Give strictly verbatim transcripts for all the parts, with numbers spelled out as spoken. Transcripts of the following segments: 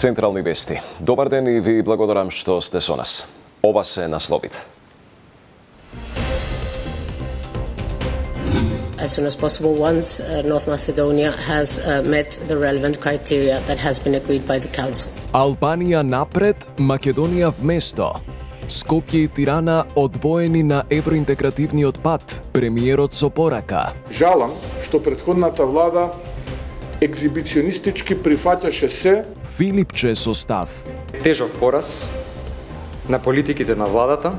Централни вести. Добар ден и ви благодарам што сте со нас. Ова се насловите. As soon as possible, once uh, North Macedonia has uh, met the relevant criteria that has been agreed by the Council. Албанија напред, Македонија вместо. Скопје и Тирана одвоени на евроинтегративниот пат, премиерот со порака. Жалам што претходната влада екзибиционистички прифаќаше се. Филипче со став. Тежок пораз на политиките на владата.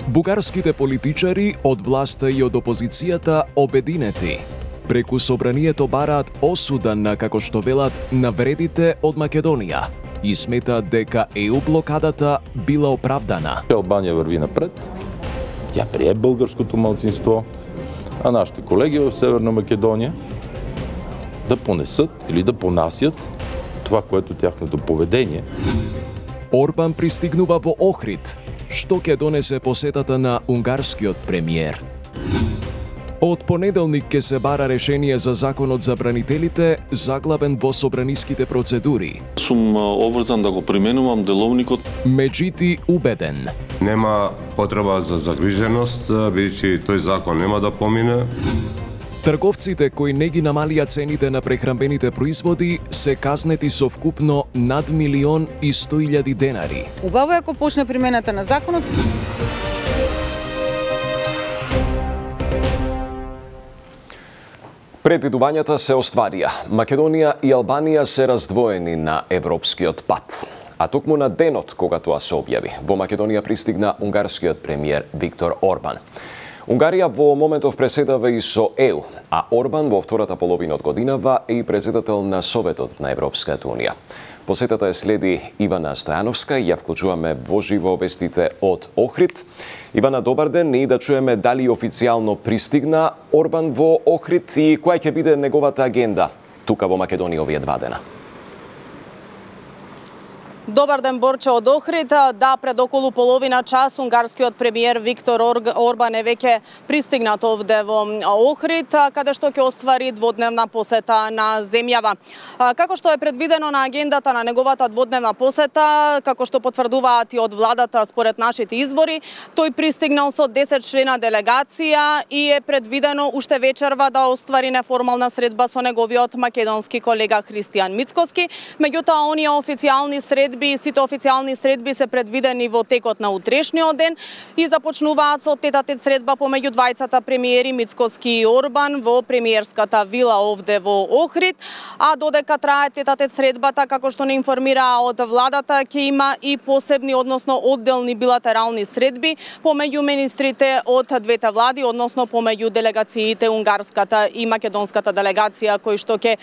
Бугарските политичари од власта и од опозицијата обединети. Преку собранието бараат осуда на, како што велат, навредите од Македонија и сметаат дека е у блокадата била оправдана. Албанија врви напред, тја прие българското малцинство, а нашите колеги в Северна Македонија да понесат или да понасят това, което тяхното поведение. Орбан пристигнува во Охрид. Што ќе донесе посетата на унгарскиот премиер? Од понеделник ќе се бара решение за законот за бранителите, заглавен во собраниските процедури. Сум обврзан да го применувам деловникот. Меѓути убеден. Нема потреба за загриженост, бидејќи тој закон нема да помине. Трговците кои не ги намалија цените на прехранбените производи се казнети со вкупно над милион и сто илјади денари. Убаво е ако почне примената на законот. Предвидувањата се остварија. Македонија и Албанија се раздвоени на европскиот пат. А токму на денот кога тоа се објави, во Македонија пристигна унгарскиот премиер Виктор Орбан. Унгарија во моментов преседава и со Е У, а Орбан во втората половина од годинава е и председател на Советот на Европската Унија. Посетата е следи Ивана Стојановска и ја вклучуваме во живо вестите од Охрид. Ивана, добар ден, и да чуеме дали официјално пристигна Орбан во Охрид и која ќе биде неговата агенда тука во Македонија овие два дена. Добар ден, Борче од Охрид. Да, пред околу половина час унгарскиот премиер Виктор Орбан е веќе пристигнат овде во Охрид, каде што ќе оствари дводневна посета на земјава. Како што е предвидено на агендата на неговата дводневна посета, како што потврдуваат и од владата според нашите извори, тој пристигнал со десет члена делегација и е предвидено уште вечерва да оствари неформална средба со неговиот македонски колега Христијан Мицкоски. Меѓутоа, оние официјални средби Сите официјални средби се предвидени во текот на утрешниот ден и започнуваат со тет-а-тет средба помеѓу двајцата премиери Мицкоски и Орбан во премиерската вила овде во Охрид, а додека трае тет-а-тет средбата, како што не информира од владата, ќе има и посебни, односно одделни билатерални средби помеѓу министрите од двете влади, односно помеѓу делегациите унгарската и македонската делегација кои што ќе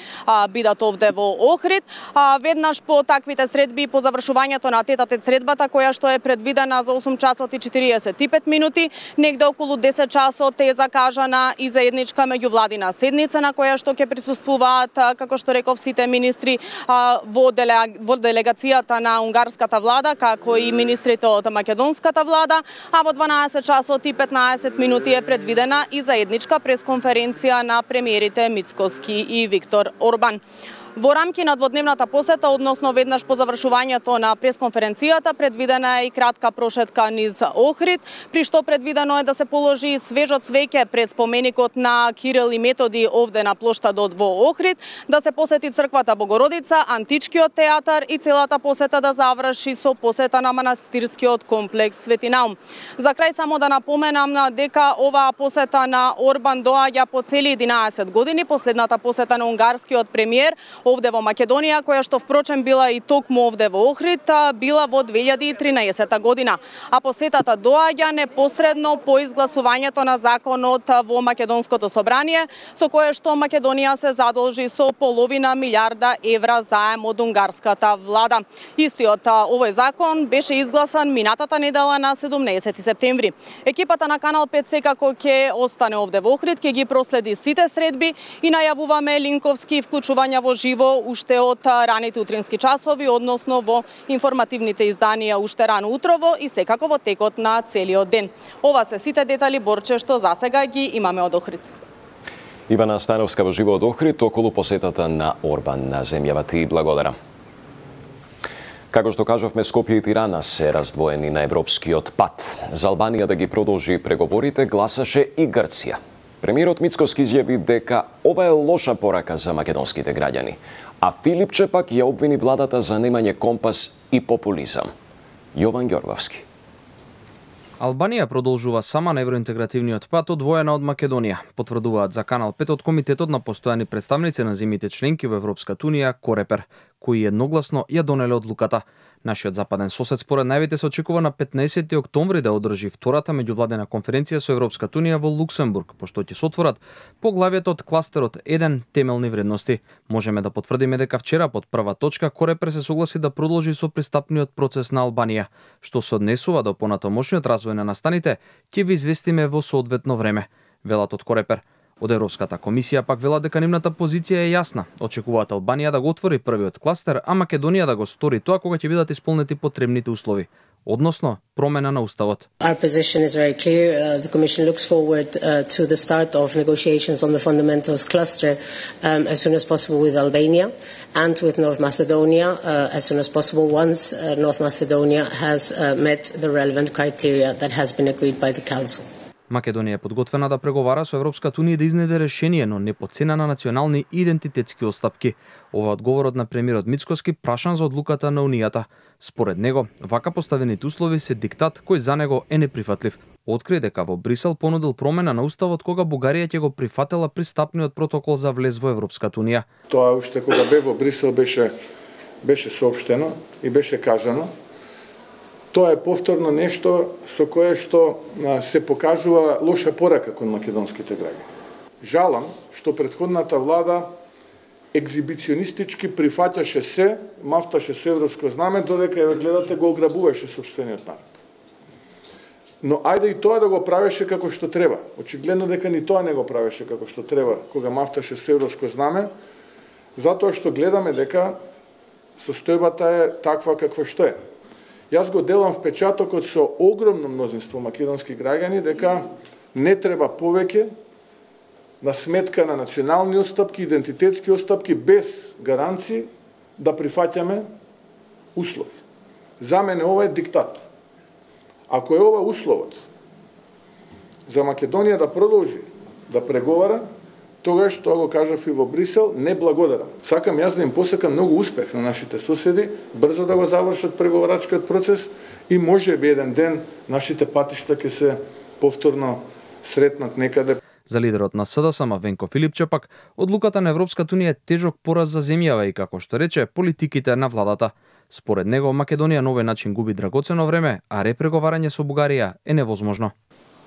бидат овде во Охрид. А, веднаш по таквите средби по завршувањето на тет-а-тет средбата, која што е предвидена за осум часот и четириесет и пет минути, негде околу десет часот е закажана и заедничка меѓувладина седница на која што ќе присуствуваат, како што реков, сите министри во, делега... во делегацијата на унгарската влада, како и министрите од македонската влада, а во дванаесет часот и петнаесет минути е предвидена и заедничка пресконференција на премиерите Мицкоски и Виктор Орбан. Во рамки на дводневната посета, односно веднаш по завршувањето на пресконференцијата, предвидена е и кратка прошетка низ Охрид, при што предвидено е да се положи свежо цвеќе пред споменикот на Кирил и Методи овде на плоштадот во Охрид, да се посети црквата Богородица, античкиот театар и целата посета да заврши со посета на манастирскиот комплекс Свети Наум. За крај само да напоменам дека оваа посета на Орбан доаѓа по цели единаесет години, последната посета на унгарскиот премиер овде во Македонија, која што впрочем била и токму овде во Охрид, била во две илјади и тринаесета година. А посетата доаѓа непосредно по изгласувањето на законот во Македонското собрание, со кое што Македонија се задолжи со половина милиарда евра заем од унгарската влада. Истиот овој закон беше изгласан минатата недела на седумнаесети септември. Екипата на Канал пет секако ќе остане овде во Охрид, ќе ги проследи сите средби и најавуваме линковски вклучувања во живо уште од раните утрински часови, односно во информативните изданија уште рано утрово и секако во текот на целиот ден. Ова се сите детали, Борче, што засега ги имаме од Охрид. Ивана Стојановска во живо од Охрид околу посетата на Орбан на земјава. Ти благодарам. Како што кажавме, Скопје и Тирана се раздвоени на европскиот пат. За Албанија да ги продолжи преговорите гласаше и Грција. Премиерот Мицкоски изјави дека ова е лоша порака за македонските граѓани, а Филипче пак ја обвини владата за немање компас и популизам. Јован Ѓорговски. Албанија продолжува сама на евроинтегративниот пат одвоена од Македонија, потврдуваат за Канал пет од Комитетот на постојани представници на земјите членки во Европската унија, Корепер, кои едногласно ја донеле одлуката. Нашиот западен сосед според најавите се очекува на петнаесети октомври да одржи втората меѓувладена конференција со Европската унија во Луксембург, пошто ќе се отворат поглавието од кластерот еден темелни вредности. Можеме да потврдиме дека вчера под прва точка Корепер се согласи да продолжи со пристапниот процес на Албанија, што се однесува до понатомошниот развој на настаните, ќе ви известиме во соодветно време, велат од Корепер. Од Европската комисија пак велат дека нивната позиција е јасна. Очекуваат Албанија да го отвори првиот кластер, а Македонија да го стори тоа кога ќе бидат исполнети потребните услови, односно промена на уставот. Our position is very clear. Uh, the Commission looks forward uh, to the start of negotiations on the fundamentals cluster um, as soon as possible with Albania and with North Macedonia uh, as soon as possible once uh, North Macedonia has uh, met the relevant criteria that has been agreed by the Council. Македонија е подготвена да преговара со Европската унија да изнеде решение, но не по цена на национални идентитетски отстапки. Ова одговорот на премиерот Мицкоски прашан за одлуката на Унијата. Според него, вака поставените услови се диктат кој за него е неприфатлив. Откри дека во Брисел понудил промена на уставот кога Бугарија ќе го прифатела пристапниот протокол за влез во Европската унија. Тоа уште кога бе во Брисел беше беше соопштено и беше кажано. Тоа е повторно нешто со кое што се покажува лоша порака кон македонските граѓани. Жалам што претходната влада екзибиционистички прифаќаше се, мафташе со европско знаме, додека ја гледате го ограбуваше сопствениот народ. Но ајде и тоа да го правеше како што треба. Очигледно дека ни тоа не го правеше како што треба кога мафташе со европско знаме, затоа што гледаме дека состојбата е таква каква што е. Јас го делам впечатокот со огромно мнозинство македонски граѓани дека не треба повеќе на сметка на национални отстапки, идентитетски отстапки без гаранции да прифаќаме услови. За мене ова е диктат. Ако е ова условот за Македонија да продолжи да преговара, тогаш тоа го кажав и во Брисел, не благодарам. Сакам јас да им посакам многу успех на нашите соседи, брзо да го завршат преговарачкиот процес и може би еден ден нашите патишта ќе се повторно сретнат некаде. За лидерот на СДСМ Венко Филипче пак, одлуката на Европската унија е тежок пораз за земјава и, како што рече, политиките на владата. Според него, Македонија на овој начин губи драгоцено време, а репреговарање со Бугарија е невозможно.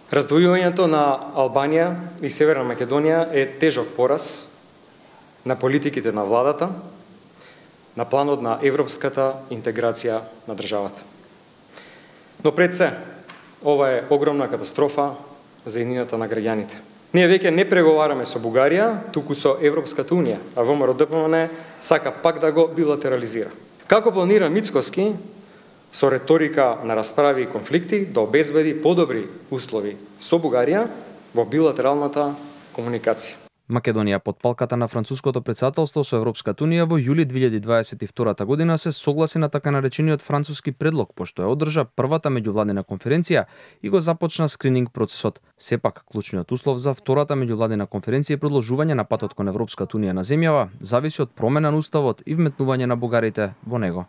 Раздвојувањето на Албанија и Северна Македонија е тежок пораз на политиките на владата, на планот на европската интеграција на државата. Но пред се, ова е огромна катастрофа за еднината на граѓаните. Ние веќе не преговараме со Бугарија, туку со Европската унија, а ВМРО-ДПМН сака пак да го билатерализира. Како планира Мицкоски со реторика на расправи и конфликти да обезбеди подобри услови со Бугарија во билатералната комуникација? Македонија под палката на француското претседателство со Европската унија во јули две илјади дваесет и втора година се согласи на така наречениот француски предлог, пошто ја одржа првата меѓувладена конференција и го започна скрининг процесот. Сепак, клучниот услов за втората меѓувладена конференција и продолжување на патот кон Европската унија на земјава зависи од промена на уставот и вметнување на бугарите во него.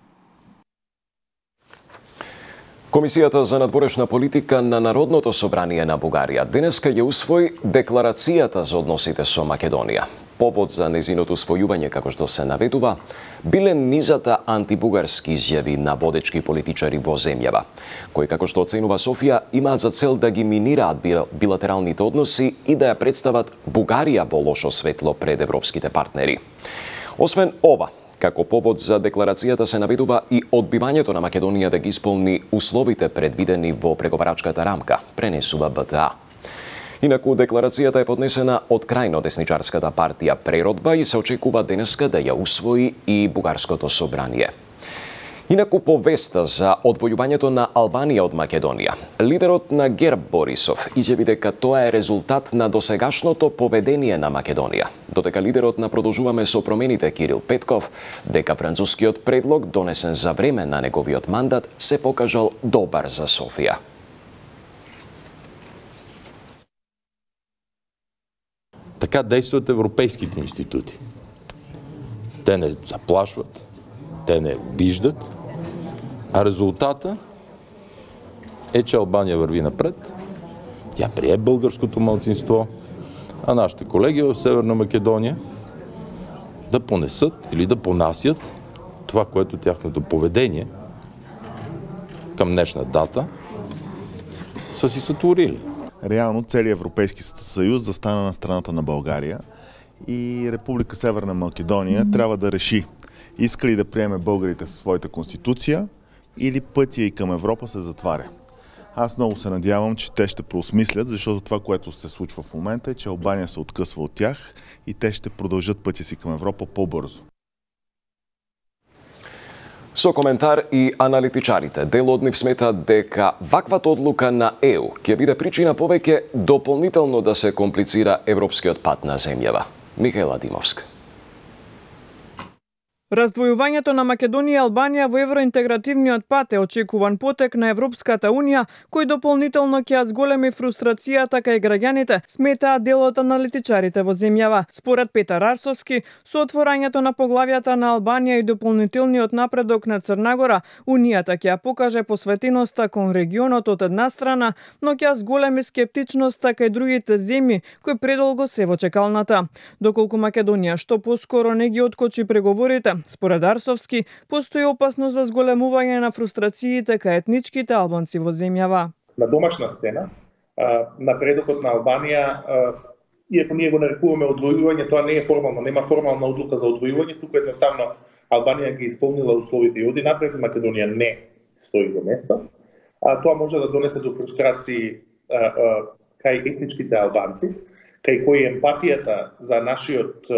Комисијата за надворешна политика на Народното собрание на Бугарија денеска ја усвои декларацијата за односите со Македонија. Повод за незиното усвојување, како што се наведува, биле низата антибугарски изјави на водечки политичари во земјава, кои, како што оценува Софија, имаат за цел да ги минираат билатералните односи и да ја представат Бугарија во лошо светло пред европските партнери. Освен ова, како повод за декларацијата се наведува и одбивањето на Македонија да ги исполни условите предвидени во преговарачката рамка, пренесува БТА. Инаку декларацијата е поднесена од крајно десничарската партија Преродба и се очекува денеска да ја усвои и Бугарското собрание. Инаку повеста за одвојувањето на Албанија од Македонија. Лидерот на ГЕРБ Борисов изјави дека тоа е резултат на досегашното поведение на Македонија. Додека лидерот на Продолжуваме со промените Кирил Петков дека францускиот предлог донесен за време на неговиот мандат се покажал добар за Софија. Така действат европейските институти. Те не заплашват, те не обиждат, а резултата е, че Албания върви напред. Тя прие българското малцинство, а нашите колеги в Северна Македония да понесат или да понасят това, което тяхното поведение към днешна дата са си сътворили. Реално целият Европейски съюз застана на страната на България и Република Северна Македония mm-hmm. трябва да реши иска ли да приеме българите със своята конституция или пътя и към Европа се затваря. Аз много се надявам, че те ще преосмислят, защото това, което се случва в момента е, че Албания се откъсва от тях и те ще продължат пътя си към Европа по-бързо. Со коментар и аналитичарите, дел од нив сметаат дека ваквата одлука на Е У ќе биде причина повеќе дополнително да се комплицира европскиот пат на земјава. Михаела Димовска. Раздвојувањето на Македонија и Албанија во евроинтегративниот пат е очекуван потек на Европската Унија, кој дополнително ќе ја зголеми фрустрацијата кај граѓаните, сметаат дел од аналитичарите во земјава. Според Петар Арсовски, со отворањето на поглавјата на Албанија и дополнителниот напредок на Црна Гора, Унијата ќе ја покаже посветеноста кон регионот од една страна, но ќе ја зголеми скептичноста кај другите земји кои предолго се во чекалната. Доколку Македонија што поскоро не ги откочи преговорите, според Арсовски, постои опасност за зголемување на фрустрациите кај етничките албанци во земјава. На домашна сцена, напредокот на Албанија, иако ние го нарекуваме одвојување, тоа не е формално, нема формална одлука за одвојување, туку едноставно Албанија ги исполнила условите и оди напред, Македонија не стои до место. Тоа може да донесе до фрустрации кај етничките албанци, кај кои емпатијата за нашиот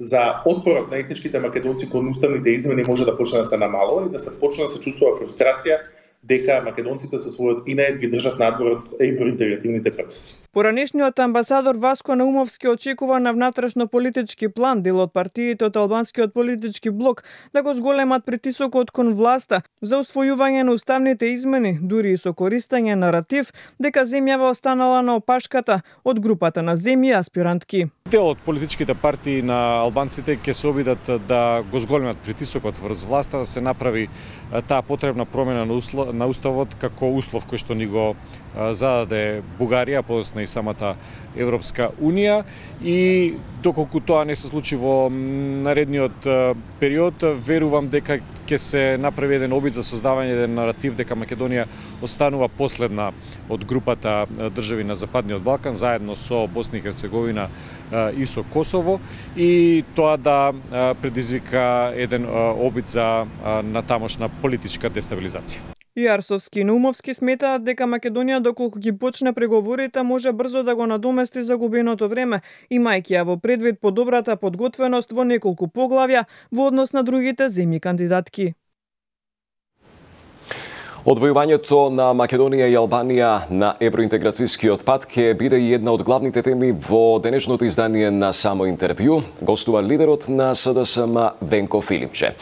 за отпорот на етничките македонци кон уставните измени може да почне да се намалува и да се почне да се чувствува фрустрација дека македонците со својот инет ги држат надвор од евроинтегративните процеси. Поранешниот амбасадор Васко Наумовски очекува на внатрешно-политички план дел од партиите од албанскиот политички блок да го зголемат притисокот кон власта за усвојување на уставните измени, дури и со користење наратив дека земјава останала на опашката од групата на земји аспирантки. Дел од политичките партии на албанците ќе се обидат да го зголемат притисокот врз власта, да се направи таа потребна промена на, услов, на уставот како услов кој што ни го зададе Бугарија, подоцна и самата Европска Унија, и доколку тоа не се случи во наредниот период, верувам дека ќе се направи еден обид за создавање еден наратив дека Македонија останува последна од групата држави на Западниот Балкан, заедно со Босна и Херцеговина и со Косово, и тоа да предизвика еден обид за натамошна политичка дестабилизација. И Арсовски и Наумовски сметаат дека Македонија доколку ги почне преговорите може брзо да го надомести загубеното време, имајќи ја во предвид подобрата подготвеност во неколку поглавја во однос на другите земји кандидатки. Одвојувањето на Македонија и Албанија на евроинтеграцијскиот пат ќе биде и една од главните теми во денешното издание на Само интервју. Гостува лидерот на С Д С М Венко Филипче.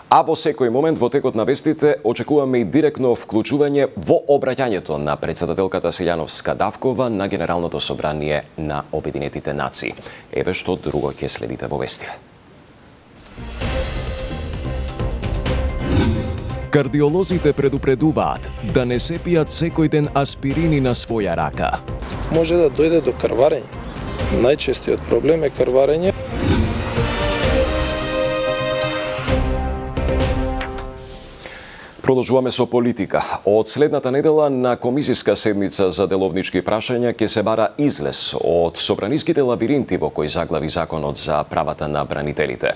А во секој момент во текот на вестите очекуваме и директно вклучување во обраќањето на претседателката Силјановска Давкова на Генералното собрание на Обединетите нации. Еве што друго ќе следите во вестите. Кардиолозите предупредуваат да не се пијат секој ден аспирини на своја рака. Може да дојде до крварење. Најчестиот проблем е крварење. Продолжуваме со политика. Од следната недела на комисиска седница за деловнички прашања ќе се бара излез од собраниските лабиринти во кои заглави законот за правата на бранителите.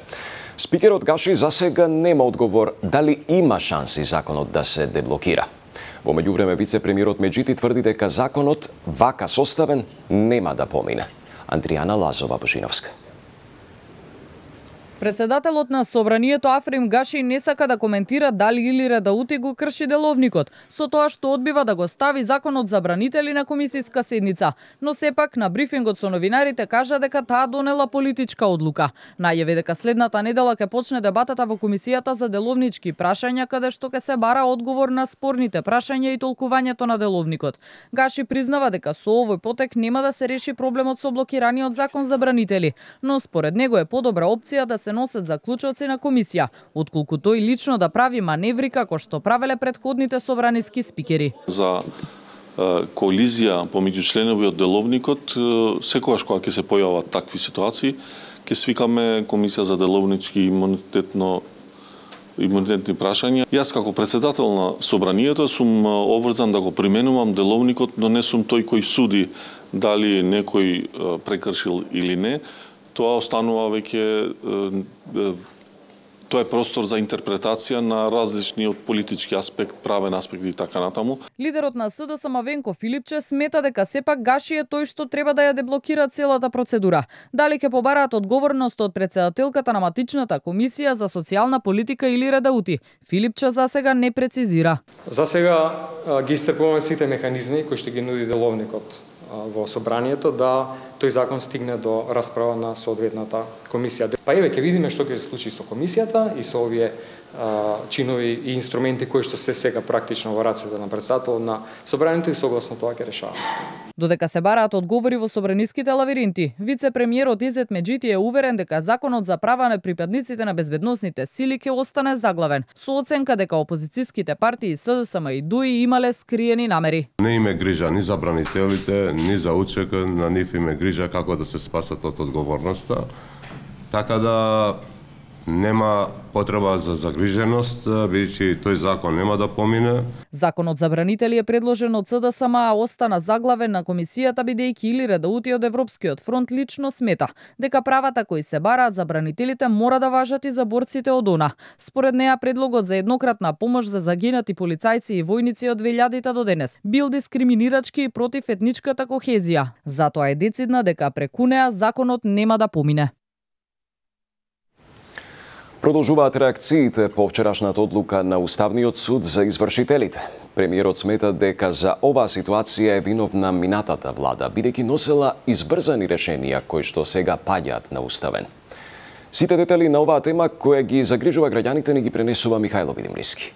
Спикерот Гаши засега нема одговор дали има шанси законот да се деблокира. Во меѓувреме вице-премиерот Меджити тврди дека законот, вака составен, нема да помине. Андријана Лазова Божиновска. Председателот на Собранието Африм Гаши не сака да коментира дали Илир Едаути го крши деловникот, со тоа што одбива да го стави законот за бранители на комисиска седница, но сепак на брифингот со новинарите кажа дека таа донела политичка одлука. Најави дека следната недела ќе почне дебатата во комисијата за деловнички прашања, каде што ќе се бара одговор на спорните прашања и толкувањето на деловникот. Гаши признава дека со овој потек нема да се реши проблемот со блокираниот закон за бранители, но според него е подобра опција да се носат заклучоци на комисија, отколку тој лично да прави маневри како што правеле предходните собраниски спикери. За коализија помеѓу членови од деловникот, секогаш кога ќе се појават такви ситуации, ќе свикаме комисија за деловнички имунитетно имунитетни прашања. Јас како председател на собранието сум обврзан да го применувам деловникот, но не сум тој кој суди дали некој прекршил или не. Тоа останува веќе, тоа е простор за интерпретација на различниот политички аспект, правен аспект и така натаму. Лидерот на СДСМ Венко Филипче смета дека сепак Гаши е тој што треба да ја деблокира целата процедура. Дали ќе побараат одговорност од председателката на матичната комисија за социјална политика Илир Едаути? Филипче за сега не прецизира. За сега ги истрпуваме сите механизми кои што ги нуди деловникот во собранието да тој закон стигне до расправа на соодветната комисија. Па еве ќе видиме што ќе се случи со комисијата и со овие а, чинови и инструменти кои што се сега практично во рацете на председателот на собранието и согласно тоа ќе решаваме. Додека се бараат одговори во собраниските лавиринти, вице-премиерот Изет Меджити е уверен дека законот за права на припадниците на безбедносните сили ќе остане заглавен, со оценка дека опозицијските партии СДСМ и ДУИ имале скриени намери. Не име грижа ни за бранителите, ни за УЧК, на нив име грижа како да се спасат од одговорноста. Така да нема потреба за загриженост, бидејќи тој закон нема да помине. Законот за бранители е предложен од СДСМ, а остана заглавен на комисијата бидејќи Илир Едаути од Европскиот фронт лично смета дека правата кои се бараат за бранителите мора да важат и за борците од ОНА. Според неа предлогот за еднократна помош за загинати полицајци и војници од две илјадите до денес бил дискриминирачки и против етничката кохезија. Затоа е децидна дека преку неа законот нема да помине. Продолжуваат реакциите по вчерашната одлука на Уставниот суд за извршителите. Премиерот смета дека за оваа ситуација е виновна минатата влада, бидејќи носела избрзани решенија кои што сега паѓаат на уставен. Сите детали на оваа тема која ги загрижува граѓаните ни ги пренесува Михајло Видимлиски.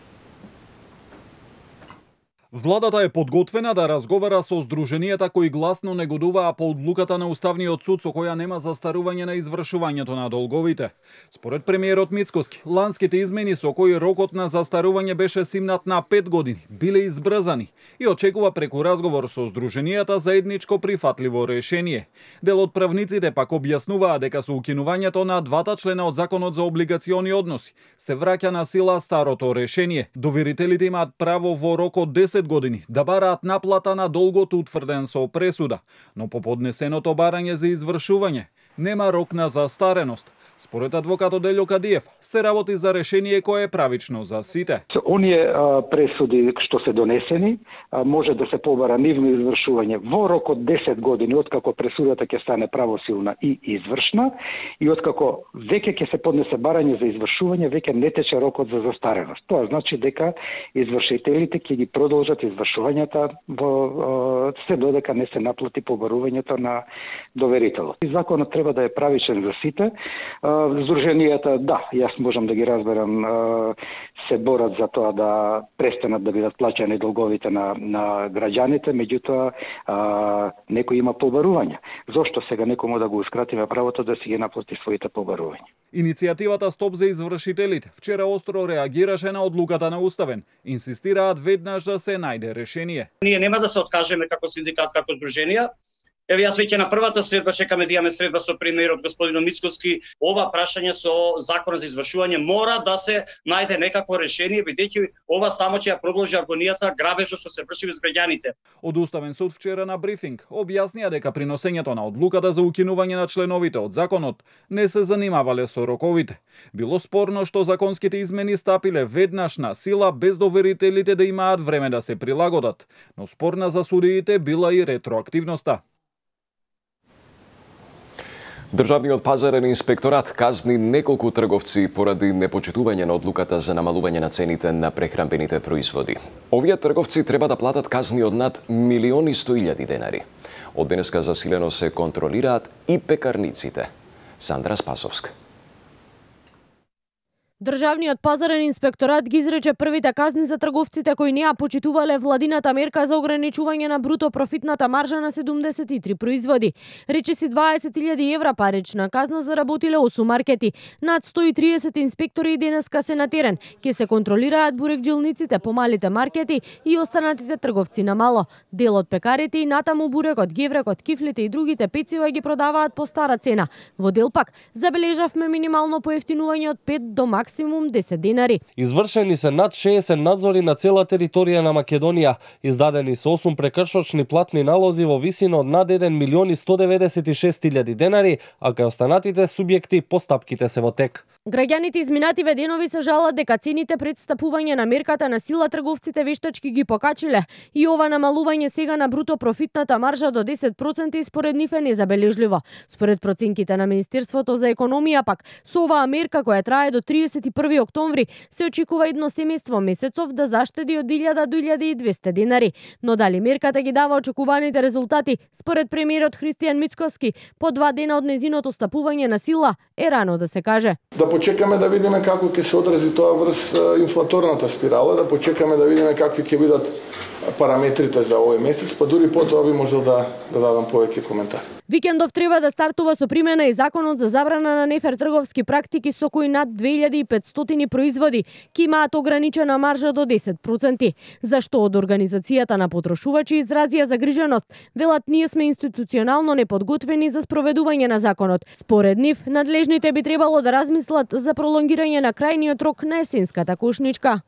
Владата е подготвена да разговара со здруженијата кои гласно негодуваа по одлуката на Уставниот суд со која нема застарување на извршувањето на долговите. Според премиерот Мицкоски, ланските измени со кои рокот на застарување беше симнат на пет години биле избрзани и очекува преку разговор со здруженијата заедничко прифатливо решение. Дел од правниците пак објаснуваа дека со укинувањето на двата члена од Законот за облигациони односи се враќа на сила старото решение. Доверителите имаат право во рок од десет години да бараат наплата на долгот утврден со пресуда, но по поднесеното барање за извршување нема рок на застареност. Според адвокатот Делјо Кадиев, се работи за решение кое е правично за сите. Со оние а, пресуди што се донесени, а, може да се побара нивно извршување во рок од десет години, откако пресудата ќе стане правосилна и извршна, и откако веќе ќе се поднесе барање за извршување, веќе не тече рокот за застареност. Тоа значи дека извршителите ќе ги продолжат извршувањата во се додека не се наплати побарувањето на доверителот. И законот треба да е правичен за сите. Здруженијата, да, јас можам да ги разберам, се борат за тоа да престанат да бидат плаќани долговите на, на граѓаните, меѓутоа некој има побарувања. Зошто сега некому да гоускратиме правото да си ги наплати своите побарувања? Иницијативата Стоп за извршителите вчера остро реагираше на одлуката на Уставен. Инсистираат веднаш да се најде решение. Ние нема да се откажеме како синдикат, како здруженија. Еве јас веќе на првата средба чекаме да имаме средба со премиерот господин Мицкоски. Ова прашање со законот за извршување мора да се најде некакво решение, бидејќи ова само ќе ја продолжи агонијата, грабежот што се врши без граѓаните. Од Уставен суд вчера на брифинг објаснија дека при носењето на одлуката за укинување на членовите од законот не се занимавале со роковите. Било спорно што законските измени стапиле веднаш на сила без доверителите да имаат време да се прилагодат, но спорна за судиите била и ретроактивноста. Државниот пазарен инспекторат казни неколку трговци поради непочитување на одлуката за намалување на цените на прехранбените производи. Овие трговци треба да платат казни од над милиони и сто илјади денари. Од денеска засилено се контролираат и пекарниците. Сандра Спасовска. Државниот пазарен инспекторат ги изрече првите казни за трговците кои не ја почитувале владината мерка за ограничување на бруто профитната маржа на седумдесет и три производи. Речиси дваесет илјади евра парична казна заработиле осум маркети. Над сто и триесет инспектори денеска се на терен. Ке се контролираат бурекджилниците по малите маркети и останатите трговци на мало. Дел од пекарите и натаму бурекот, геврекот, кифлите и другите пецива ги продаваат по стара цена. Во дел пак забележавме минимално поевтинување од пет до максимум максимум десет денари. Извршени се над шеесет надзори на цела територија на Македонија. Издадени се осум прекршочни платни налози во висина од над еден милион и сто деветдесет и шест илјади денари, а кај останатите субјекти постапките се во тек. Граѓаните изминативе денови се жалат дека цените пред стапување на мерката на сила трговците вештачки ги покачиле и ова намалување сега на бруто профитната маржа до десет проценти според нив е незабележливо. Според проценките на Министерството за економија пак, со оваа мерка која трае до триесет и први октомври, се очекува едно семејство месецов да заштеди од илјада до илјада и двесте денари. Но дали мерката ги дава очекуваните резултати, според премиерот Христијан Мицкоски, по два дена од незиното стапување на сила, е рано да се каже. Да почекаме да видиме како ќе се одрази тоа врз инфлаторната спирала, да почекаме да видиме какви ќе бидат параметрите за овој месец, па дури потоа би можел да, да дадам повеќе коментари. Викендов треба да стартува со примена и законот за забрана на нефер трговски практики со кои над две илјади и петстотини производи ки имаат ограничена маржа до десет проценти. Зашто од организацијата на потрошувачи изразија загриженост, велат ние сме институционално неподготвени за спроведување на законот. Според нив, надлежните би требало да размислат за пролонгирање на крајниот рок на есенската кошничка.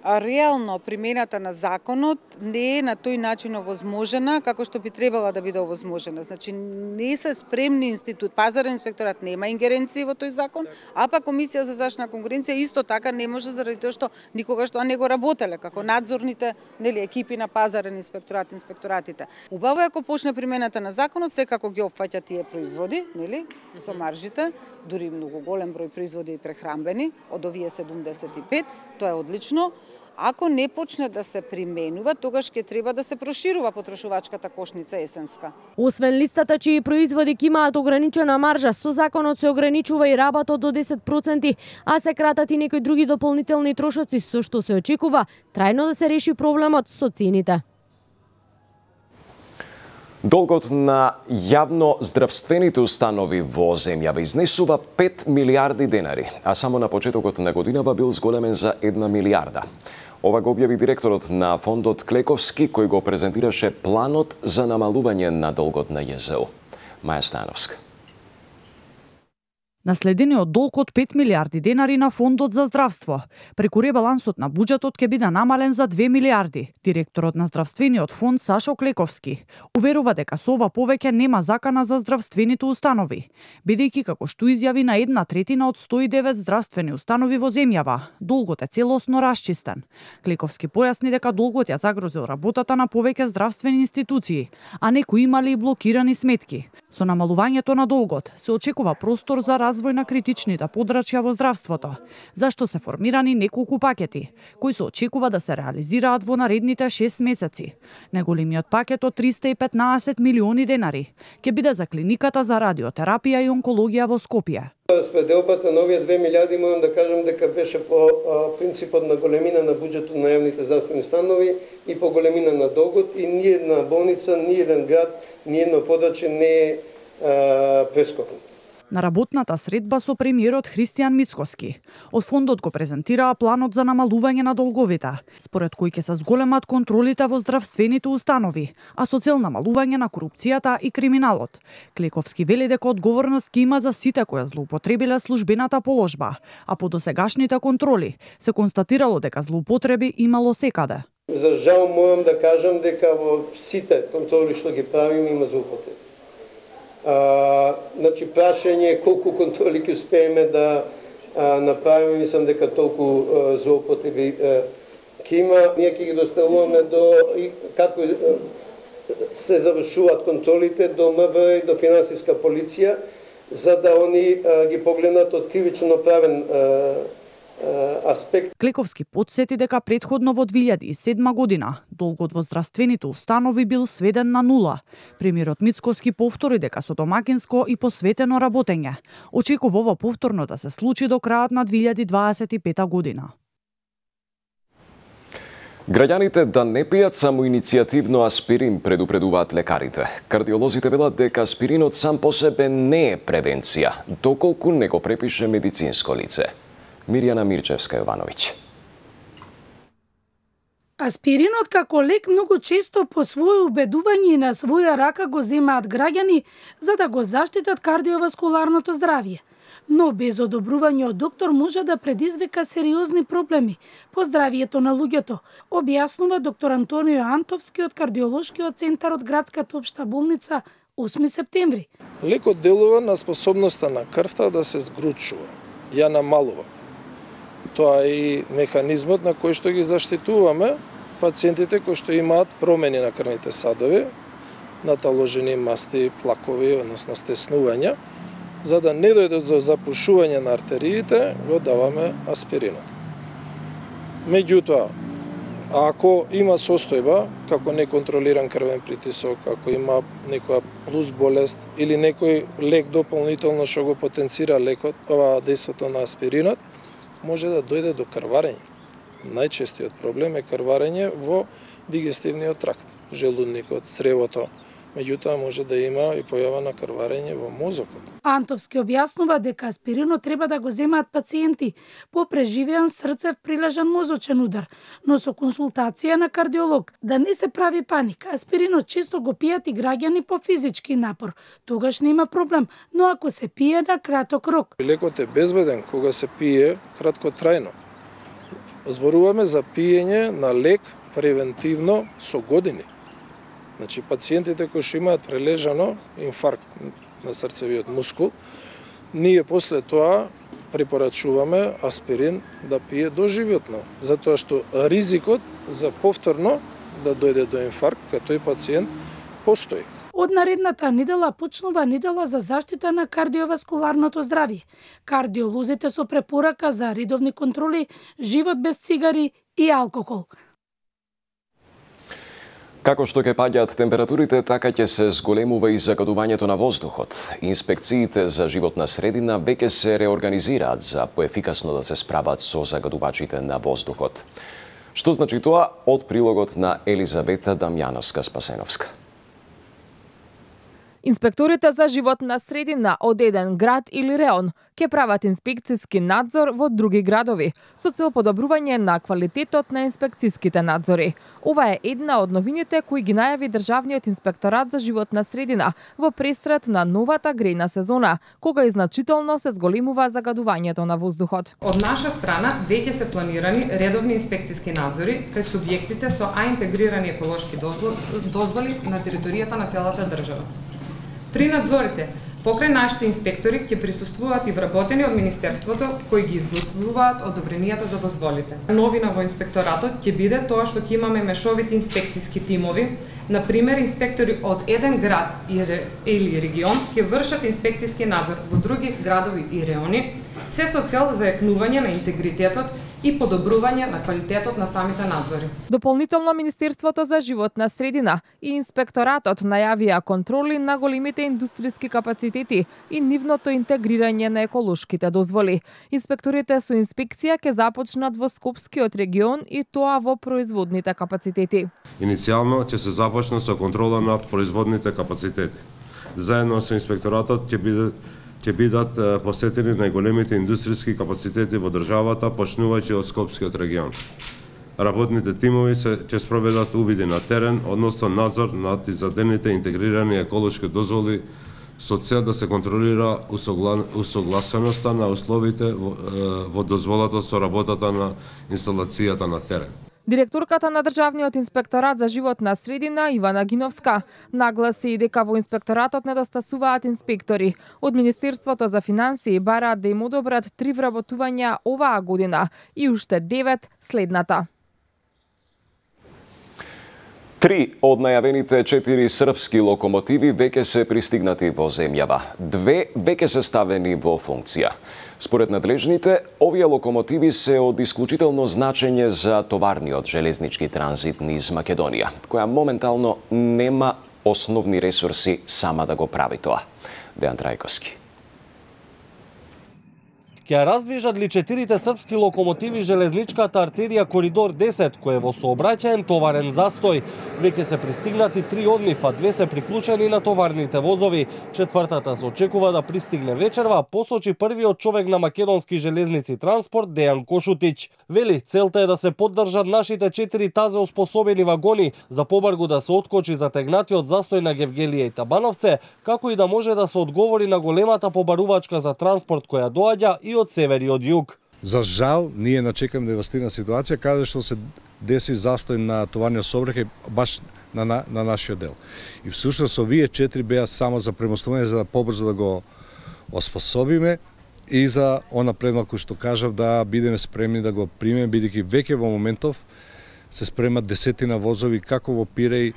Реално примената на законот не е на тој начин овозможена како што би требала да биде овозможена. Значи не се спремни институт, пазарен инспекторат нема ингеренции во тој закон, а па Комисија за заштита на конкуренција исто така не може заради тоа што никогаш тоа не го работеле како надзорните, нели, екипи на пазарен инспекторат, инспекторатите. Убаво е ако почне примената на законот, секако ги опфаќа тие производи, нели, со маржите, дури многу голем број производи и прехранбени, од овие седумдесет и пет, тоа е одлично. Ако не почне да се применува, тогаш ќе треба да се проширува потрошувачката кошница есенска. Освен листата чии производи ки имаат ограничена маржа, со законот се ограничува и рабатот до десет проценти, а се кратат и некои други дополнителни трошоци, со што се очекува трајно да се реши проблемот со цените. Долгот на јавно здравствените установи во земјава изнесува пет милиарди денари, а само на почетокот на годинава бил зголемен за една милиарда. Ова го објави директорот на фондот Клековски, кој го презентираше планот за намалување на долгот на Ја З У. Маја Становска. Наследениот долг од пет милиарди денари на фондот за здравство. Преку ребалансот на буџетот ќе биде намален за две милиарди. Директорот на здравствениот фонд Сашо Клековски уверува дека со ова повеќе нема закана за здравствените установи, бидејќи како што изјави на една третина од сто и девет здравствени установи во земјава, долгот е целосно расчистен. Клековски појасни дека долгот ја загрозил работата на повеќе здравствени институции, а некои имали и блокирани сметки. Со намалувањето на долгот се очекува простор за развој на критичните подрачја во здравството, зашто се формирани неколку пакети, кои се очекува да се реализираат во наредните шест месеци. Најголемиот пакет од триста и петнаесет милиони денари ќе биде за клиниката за радиотерапија и онкологија во Скопје. Распределбата на овие две милиарди можам да кажам дека беше по а, принципот на големина на буџетот на јавните здравствени установи и по големина на долгот, и ни една болница, ни еден град, ни едно подрачје не е прескокнат. На работната средба со премиерот Христијан Мицкоски, од фондот го презентираа планот за намалување на долговите, според кој ќе се зголемат контролите во здравствените установи, а со цел намалување на корупцијата и криминалот. Клековски вели дека одговорност ќе има за сите кои злоупотребиле службената положба, а по досегашните контроли се констатирало дека злоупотреби имало секаде. За жал морам да кажам дека во сите контроли што ги правиме има злоупотреби. А, значи прашање колку контроли ќе успееме да а, направиме, мислам дека толку а, злоупотреби ќе има. Ние ќе ги доставуваме до и како а, се завршуваат контролите до М В и до финансиска полиција, за да они а, ги погледнат од кривично правен а, аспект. Клековски потсети дека претходно во две илјади и седма година долгот во здравствените установи бил сведен на нула. Премиерот Мицкоски повтори дека со домакинско и посветено работење очекува ова повторно да се случи до крајот на две илјади дваесет и пета година. Граѓаните да не пијат само иницијативно аспирин, предупредуваат лекарите. Кардиолозите велат дека аспиринот сам по себе не е превенција, доколку не го препише медицинско лице. Мирјана Мирчевска-Јовановиќ. Аспиринот како лек многу често по свое убедување и на своја рака го земаат граѓани за да го заштитат кардиоваскуларното здравје. Но без одобрување од доктор може да предизвика сериозни проблеми по здравието на луѓето, објаснува доктор Антонио Антовски од кардиолошкиот центар од градската општа болница осми септември. Лекот делува на способноста на крвта да се згручува, ја намалува. Тоа е и механизмот на кој што ги заштитуваме пациентите кои што имаат промени на крвните садови, наталожени масти, плакови, односно стеснувања, за да не дојдат до запушување на артериите, го даваме аспиринот. Меѓутоа, ако има состојба, како неконтролиран крвен притисок, ако има некоја плюс болест или некој лек дополнително што го потенцира лекот, ова дејството на аспиринот, може да дојде до крварење. Најчестиот проблем е крварење во дигестивниот тракт, желудникот, цревото. Меѓутоа може да има и појава на крварење во мозокот. Антовски објаснува дека аспиринот треба да го земаат пациенти по преживеан срцев прилежан мозочен удар, но со консултација на кардиолог. Да не се прави паника. Аспиринот често го пијат и граѓани по физички напор. Тогаш нема проблем, но ако се пие на краток рок. Лекот е безбеден кога се пие краткотрајно. Зборуваме за пиење на лек превентивно со години. Значи, пациентите кои што имаат прележано инфаркт на срцевиот мускул, ние после тоа препорачуваме аспирин да пие доживотно, затоа што ризикот за повторно да дојде до инфаркт кај тој пациент постои. Од наредната недела почнува недела за заштита на кардиоваскуларното здравје. Кардиолозите со препорака за редовни контроли, живот без цигари и алкохол. Како што ќе паѓаат температурите, така ќе се зголемува и загадувањето на воздухот. Инспекциите за животна средина веќе се реорганизираат за поефикасно да се справат со загадувачите на воздухот. Што значи тоа? Од прилогот на Елизавета Дамјановска-Спасеновска. Инспекторите за животна средина од еден град или реон ќе прават инспекцијски надзор во други градови со цел подобрување на квалитетот на инспекцијските надзори. Ова е една од новините кои ги најави Државниот инспекторат за животна средина во престрет на новата грејна сезона, кога и значително се зголемува загадувањето на воздухот. Од наша страна веќе се планирани редовни инспекцијски надзори кај субјектите со А интегрирани еколошки дозволи на територијата на целата држава. При надзорите, покрај нашите инспектори ќе присуствуваат и вработени од Министерството кои ги изготвуваат одобренијата за дозволите. Новина во инспекторатот ќе биде тоа што ќе имаме мешовити инспекцијски тимови, например инспектори од еден град или регион ќе вршат инспекцијски надзор во други градови и реони, се со цел зајакнување на интегритетот и подобрување на квалитетот на самите надзори. Дополнително Министерството за животна средина и инспекторатот најавија контроли на големите индустријски капацитети и нивното интегрирање на еколошките дозволи. Инспекторите со инспекција ќе започнат во Скопскиот регион и тоа во производните капацитети. Иницијално ќе се започне со контрола на производните капацитети. Заедно со инспекторатот ќе биде ќе бидат посетени најголемите индустријски капацитети во државата, почнувајќи од Скопскиот регион. Работните тимови се ќе спроведат увиди на терен, односно надзор над издадените интегрирани еколошки дозволи со цел да се контролира усогласеноста на условите во дозволата со работата на инсталацијата на терен. Директорката на Државниот инспекторат за животна средина Ивана Гиновска нагласи и дека во инспекторатот недостасуваат инспектори. Од Министерството за финансии бараат да им одобрат три вработувања оваа година и уште девет следната. Три од најавените четири српски локомотиви веќе се пристигнати во земјава. Две веќе се ставени во функција. Според надлежните, овие локомотиви се од исклучително значење за товарниот железнички транзит низ Македонија, која моментално нема основни ресурси сама да го прави тоа. Дејан Трајковски. Ќе раздвижат ли четирите српски локомотиви железничката артерија Коридор десет, кој е во сообраќаен товарен застој. Веќе се пристигнати три од нив, а две се приклучени на товарните возови. Четвртата се очекува да пристигне вечерва, посочи првиот човек на Македонски железници транспорт Дејан Кошутич. Вели, целта е да се поддржат нашите четири тазе оспособени вагони, за побргу да се откочи затегнатиот застој на Гевгелија и Табановце, како и да може да се одговори на големата побарувачка за транспорт која доаѓа и од север и од југ. За жал, ние начекаме девастирана ситуација каде што се деси застој на товарниот сообраќај баш на, на, на нашиот дел. И всушност овие четири беа само за премостување за да побрзо да го оспособиме и за она предмалку што кажав да бидеме спремни да го примеме, бидејќи веќе во моментов се спремат десетина возови како во Пиреј,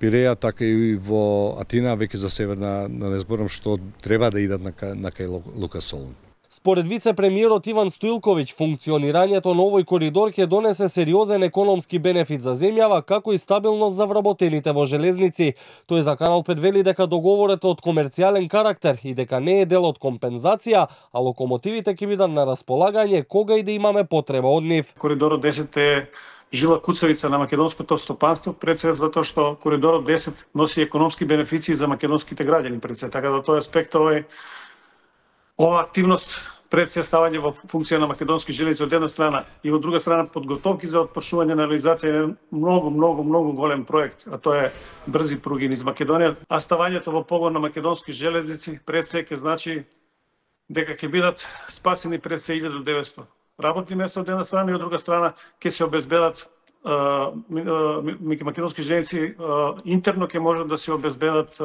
Пиреја, така и во Атина, веќе за северна, не зборам што треба да идат на, на кај Лука Солун. Според вице-премиерот Иван Стоилковиќ, функционирањето на овој коридор ќе донесе сериозен економски бенефит за земјава, како и стабилност за вработените во железници. Тој за Канал пет вели дека договорот е од комерцијален карактер и дека не е дел од компензација, а локомотивите ќе бидат на располагање кога и да имаме потреба од нив. Коридорот десет е жила куцавица на македонското стопанство, пред се затоа што Коридорот десет носи економски бенефиции за македонските граѓани пред се, така да тој аспект овој ова активност пред се ставање во функција на македонски железници од една страна и од друга страна подготовки за отпрашување на реализација на многу, многу, многу голем проект, а тоа е брзи пруги низ Македонија, а ставањето во погон на македонски железници пред се ќе значи дека ќе бидат спасени пред се илјада и деветсто работни места од една страна и од друга страна ќе се обезбедат македонски железници интерно ќе можат да се обезбедат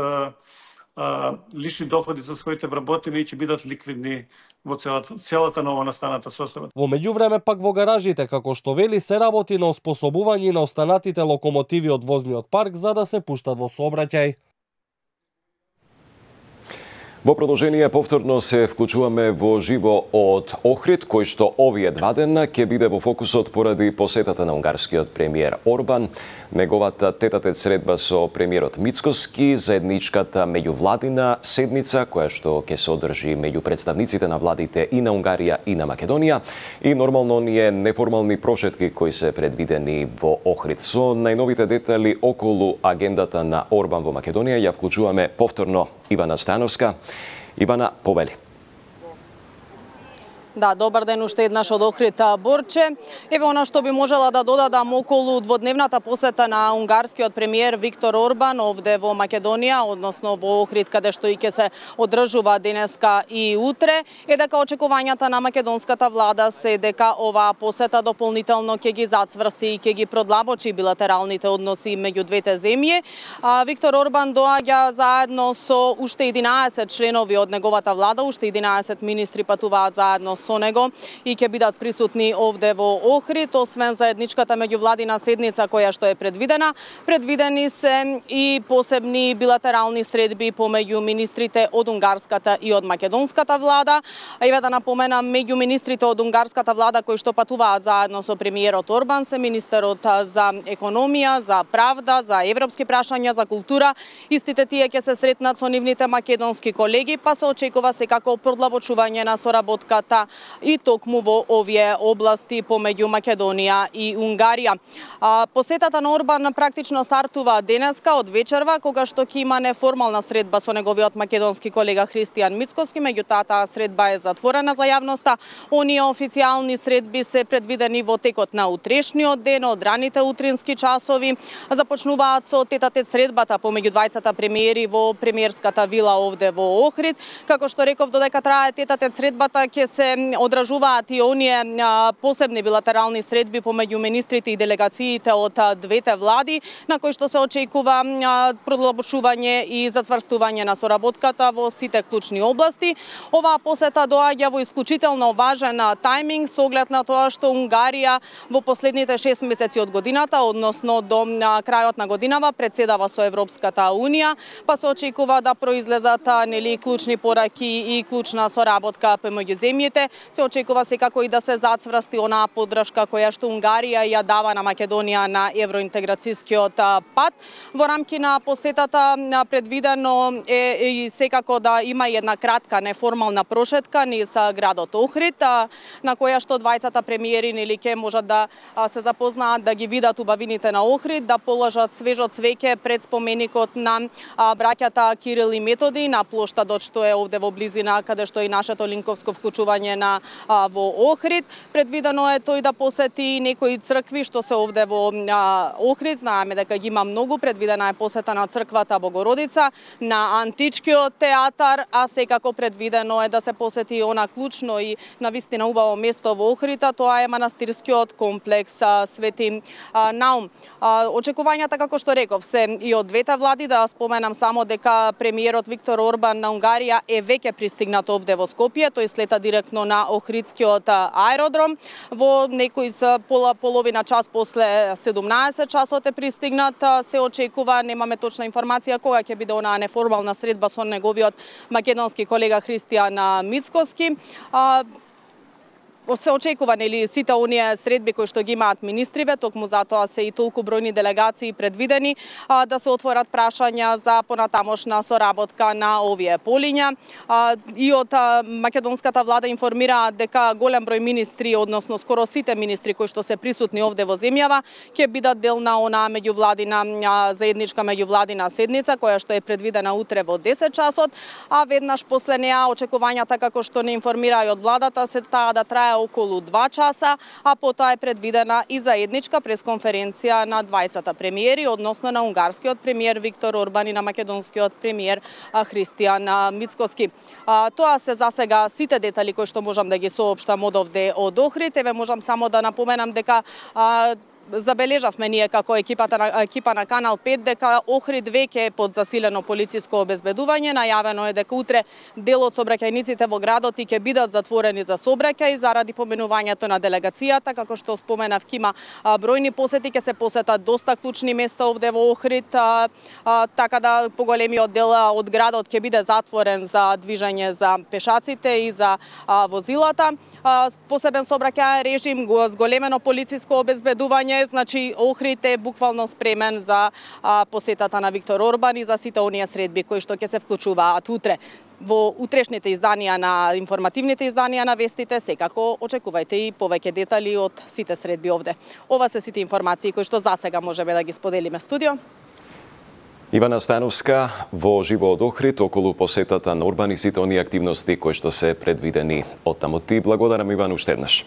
лични доходи за своите вработени и ќе бидат ликвидни во целата, целата нова настаната состава. Во меѓувреме пак во гаражите, како што вели, се работи на оспособување на останатите локомотиви од возниот парк за да се пуштат во сообраќај. Во продолжение повторно се вклучуваме во живо од Охрид, кој што овие два дена ќе биде во фокусот поради посетата на унгарскиот премиер Орбан, неговата тетатет средба со премиерот Мицкоски, заедничката меѓувладина седница која што ќе се одржи меѓу представниците на владите и на Унгарија и на Македонија и нормално оние неформални прошетки кои се предвидени во Охрид. Со најновите детали околу агендата на Орбан во Македонија ја вклучуваме повторно Ивана Стојановска. Ивана, повели. Да, добар ден уште еднаш од Охрид, Борче. Еве она што би можела да додадам околу дводневната посета на унгарскиот премиер Виктор Орбан овде во Македонија, односно во Охрид, каде што и ќе се одржува денеска и утре, е дека очекувањата на македонската влада се дека оваа посета дополнително ќе ги зацврсти и ќе ги продлабочи билатералните односи меѓу двете земји. А, Виктор Орбан доаѓа заедно со уште единаесет членови од неговата влада, уште единаесет министри патуваат заедно со него и ќе бидат присутни овде во Охрид, освен заедничката меѓувладина седница која што е предвидена. Предвидени се и посебни билатерални средби помеѓу министрите од унгарската и од македонската влада. Еве да напоменам, меѓу министрите од унгарската влада кои што патуваат заедно со премиерот Орбан се министерот за економија, за правда, за европски прашања, за култура. Истите тие ќе се сретнат со нивните македонски колеги, па се очекува секако продлабочување на соработката и токму во овие области помеѓу Македонија и Унгарија. А, посетата на Орбан практично стартува денеска од вечерва, кога што ќе има неформална средба со неговиот македонски колега Христијан Мицкоски, меѓутоа таа средба е затворена за јавноста. Оние официјални средби се предвидени во текот на утрешниот ден, од раните утрински часови. Започнуваат со тетатет средбата помеѓу двајцата премиери во премиерската вила овде во Охрид. Како што реков, додека трае тетатет средбата ќе се одражуваат и оние посебни билатерални средби помеѓу министрите и делегациите од двете влади, на кои што се очекува продолжување и зацврстување на соработката во сите клучни области. Оваа посета доаѓа во исклучително важен тајминг со оглед на тоа што Унгарија во последните шест месеци од годината, односно до крајот на годинава, председава со Европската Унија, па се очекува да произлезат нели клучни пораки и клучна соработка помеѓу земјите. Се очекува секако и да се зацврсти онаа поддршка која што Унгарија ја дава на Македонија на евроинтеграцијскиот пат. Во рамки на посетата предвидено е и секако да има една кратка неформална прошетка низ градот Охрид, на која што двајцата премиери нели ќе можат да се запознаат, да ги видат убавините на Охрид, да положат свежо цвеќе пред споменикот на браќата Кирил и Методи на плоштадот што е овде во близина каде што е и нашето линковско вклучување на а, во Охрид. Предвидено е тој да посети некои цркви што се овде во а, Охрид. Знаеме дека ги има многу. Предвидена е посета на црквата Богородица, на античкиот театар, а секако предвидено е да се посети она клучно и навистина убаво место во Охрид, тоа е манастирскиот комплекс а, Свети а, Наум. А, очекувањата, како што реков, се и од двете влади. Да споменам само дека премиерот Виктор Орбан на Унгарија е веќе пристигнат овде во Скопје. Тој слета директно на Охридскиот аеродром. Во некој пола половина час после седумнаесет часот е пристигнат. Се очекува, немаме точна информација кога ќе биде онаа неформална средба со неговиот македонски колега Христијан Мицкоски. Се очекува нели сите оние средби кои што ги имаат министриве, токму затоа се и толку бројни делегации предвидени а, да се отворат прашања за понатамошна соработка на овие полиња. А, и од а, македонската влада информираат дека голем број министри, односно скоро сите министри кои што се присутни овде во земјава, ќе бидат дел на онаа меѓувладина а, заедничка меѓувладина седница која што е предвидена утре во десет часот, а веднаш после неа очекувањата како што не информира и од владата се таа да трае околу два часа, а потоа е предвидена и заедничка пресконференција на двајцата премиери, односно на унгарскиот премиер Виктор Орбан и на македонскиот премиер Христијан Мицкоски. Тоа се за сега сите детали кои што можам да ги соопштам од овде од Охрид. Еве можам само да напоменам дека забележавме ние како екипата на, екипа на Канал пет дека Охрид веќе е под засилено полициско обезбедување. Најавено е дека утре дел од сообраќајниците во градот и ќе бидат затворени за сообраќај заради поминувањето на делегацијата. Како што споменав, има бројни посети, ќе се посетат доста клучни места овде во Охрид, а, а, така да поголемиот дел од градот ќе биде затворен за движење за пешаците и за а, возилата. А, посебен сообраќајен режим, го зголемено полициско обезбедување. Значи Охрид е буквално спремен за а, посетата на Виктор Орбан и за сите оние средби кои што ќе се вклучуваат утре. Во утрешните изданија на информативните изданија на вестите, секако очекувајте и повеќе детали од сите средби овде. Ова се сите информации кои што засега можеме да ги споделиме. Студио. Ивана Становска во живо од Охрид околу посетата на Орбан и сите оние активности кои што се предвидени од таму. Ти благодарам, Иван, уште еднаш.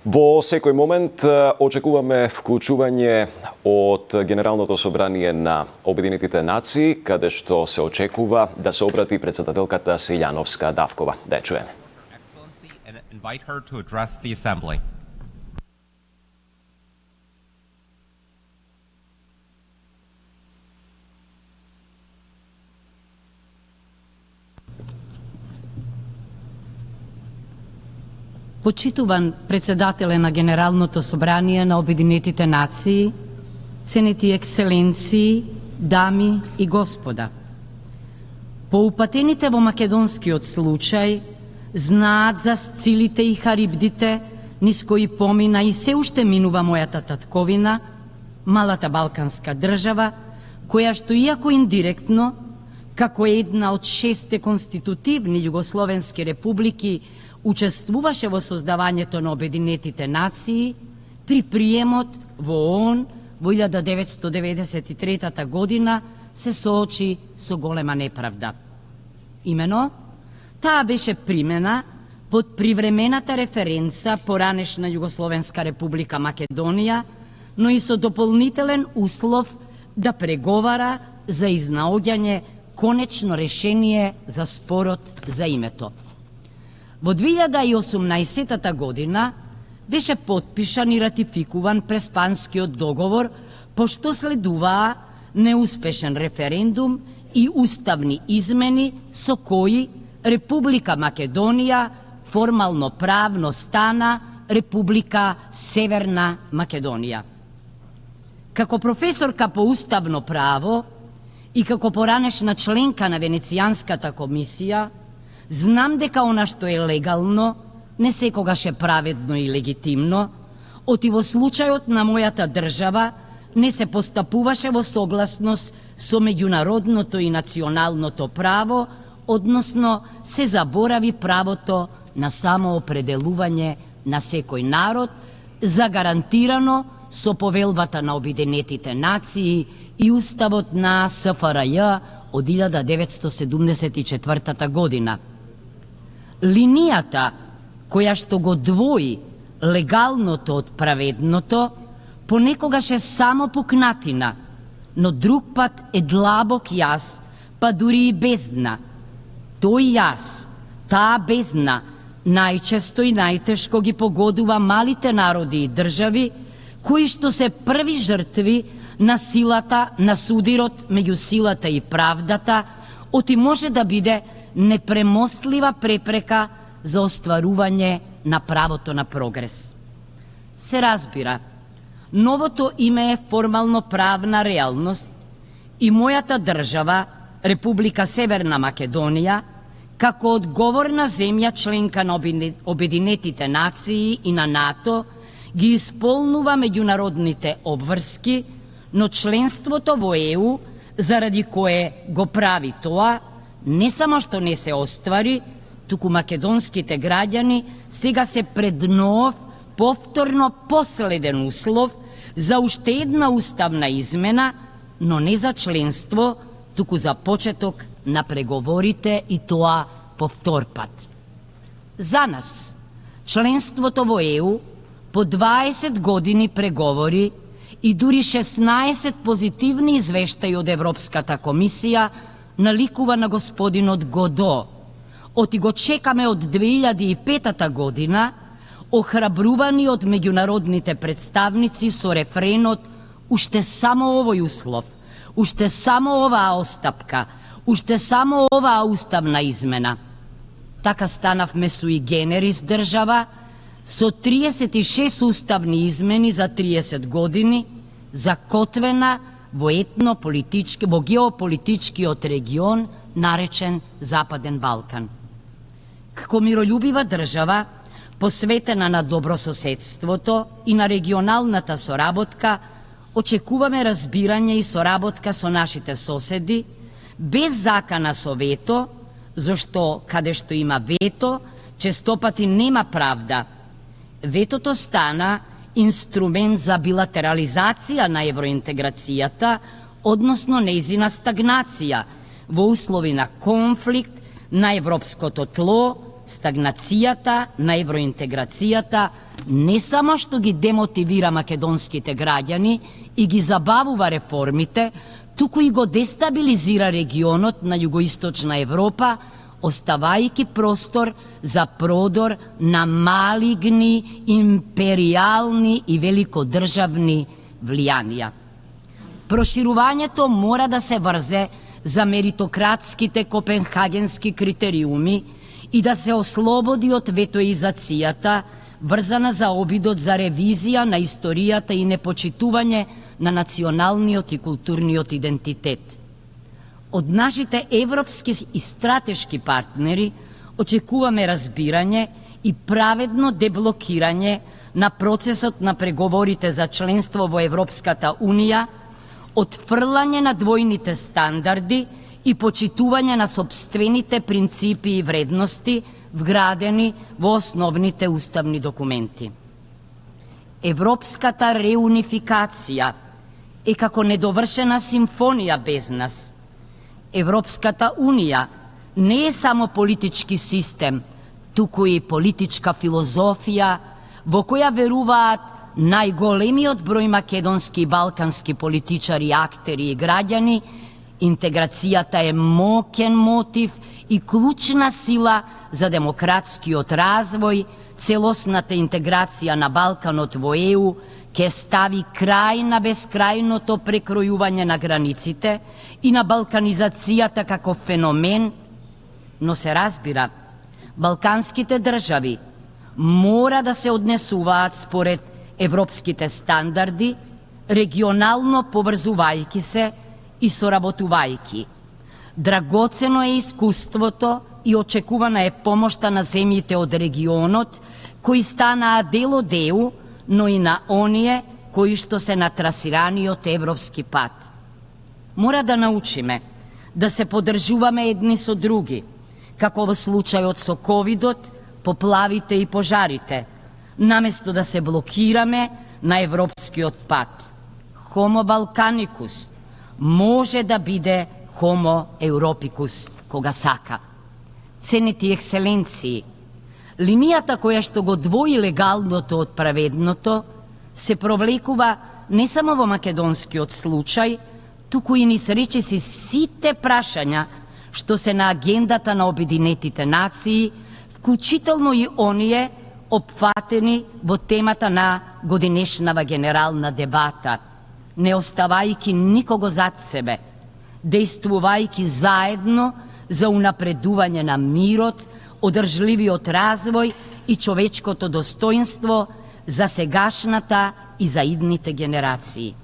Во секој момент очекуваме вклучување од Генералното собрание на Обединетите нации, каде што се очекува да се обрати председателката Силјановска Давкова. Да ја чуеме. Почитуван председателе на Генералното собрание на Обединетите нации, ценети екселенции, дами и господа. Поупатените во македонскиот случај знаат за сцилите и харибдите низ кои помина и се уште минува мојата татковина, малата балканска држава, која што иако индиректно, како една од шесте конститутивни југословенски републики, учествуваше во создавањето на Обединетите нации при приемот во ООН во илјада деветстотини деветдесет и трета година се соочи со голема неправда. Имено, таа беше примена под привремената референца поранешна Југословенска република Македонија, но и со дополнителен услов да преговара за изнаоѓање конечно решение за спорот за името. Во две илјади и осумнаесетта година беше потпишан и ратификуван Преспанскиот договор, пошто следуваа неуспешен референдум и уставни измени со кои Република Македонија формално правно стана Република Северна Македонија. Како професорка по уставно право и како поранешна членка на Венецијанската комисија, знам дека она што е легално не секогаш е праведно и легитимно, оти во случајот на мојата држава не се постапуваше во согласност со меѓународното и националното право, односно се заборави правото на самоопределување на секој народ, загарантирано со повелбата на Обединетите нации и уставот на С Ф Р Ј од илјада деветстотини седумдесет и четвртата година. Линијата која што го двои легалното од праведното понекогаш е само пукнатина, но друг пат е длабок јас, па дури и бездна. Тој јас, таа бездна, најчесто и најтешко ги погодува малите народи и држави, кои што се први жртви на силата, на судирот меѓу силата и правдата, оти може да биде непремостлива препрека за остварување на правото на прогрес. Се разбира, новото име е формално правна реалност и мојата држава, Република Северна Македонија, како одговорна земја членка на Обединетите нации и на НАТО, ги исполнува меѓународните обврски, но членството во Е У, заради кое го прави тоа, не само што не се оствари, туку македонските граѓани сега се пред нов, повторно последен услов за уште една уставна измена, но не за членство, туку за почеток на преговорите и тоа по втор пат. За нас, членството во Е У по дваесет години преговори и дури шеснаесет позитивни извештаи од Европската комисија наликува на господинот Годо. Оти го чекаме од две илјади и петта година, охрабрувани од меѓународните представници со рефренот «Уште само овој услов, уште само оваа остапка, уште само оваа уставна измена». Така станавме суи генерис држава, со триесет и шест уставни измени за триесет години, закотвена во етно-политички, во геополитичкиот регион, наречен Западен Балкан. Како миролюбива држава, посветена на добрососедството и на регионалната соработка, очекуваме разбирање и соработка со нашите соседи, без закана со вето, зашто каде што има вето, честопати нема правда. Ветото стана инструмент за билатерализација на евроинтеграцијата, односно нејзина стагнација, во услови на конфликт на европското тло, стагнацијата на евроинтеграцијата не само што ги демотивира македонските граѓани и ги забавува реформите, туку и го дестабилизира регионот на југоисточна Европа, оставајќи простор за продор на малигни, империални и великодржавни влијанија. Проширувањето мора да се врзе за меритократските копенхагенски критериуми и да се ослободи од ветоизацијата, врзана за обидот за ревизија на историјата и непочитување на националниот и културниот идентитет. Од нашите европски и стратешки партнери очекуваме разбирање и праведно деблокирање на процесот на преговорите за членство во Европската Унија, отфрлање на двојните стандарди и почитување на сопствените принципи и вредности вградени во основните уставни документи. Европската реунификација е како недовршена симфонија без нас. Европската Унија не е само политички систем, туку и политичка филозофија во која веруваат најголемиот број македонски и балкански политичари, актери и граѓани Интеграцијата е моќен мотив и клучна сила за демократскиот развој, целосната интеграција на Балканот во Е У ќе стави крај на бескрајното прекројување на границите и на балканизацијата како феномен, но се разбира, балканските држави мора да се однесуваат според европските стандарди, регионално поврзувајќи се и соработувајќи. Драгоцено е искуството и очекувана е помошта на земјите од регионот, кои станаа дел од Е У, но и на оние кои што се на трасираниот европски пат. Мора да научиме да се поддржуваме едни со други, како во случајот со ковидот, поплавите и пожарите, наместо да се блокираме на европскиот пат. Homo Balkanicus може да биде Homo Europicus кога сака. Ценети екселенции, линијата која што го двои легалното од праведното се провлекува не само во македонскиот случај, туку и низ речиси сите прашања што се на агендата на Обединетите нации, вклучително и оние опфатени во темата на годинешнава генерална дебата, не оставајќи никого зад себе, действувајќи заедно за унапредување на мирот, одржливиот развој и човечкото достоинство за сегашната и за идните генерации.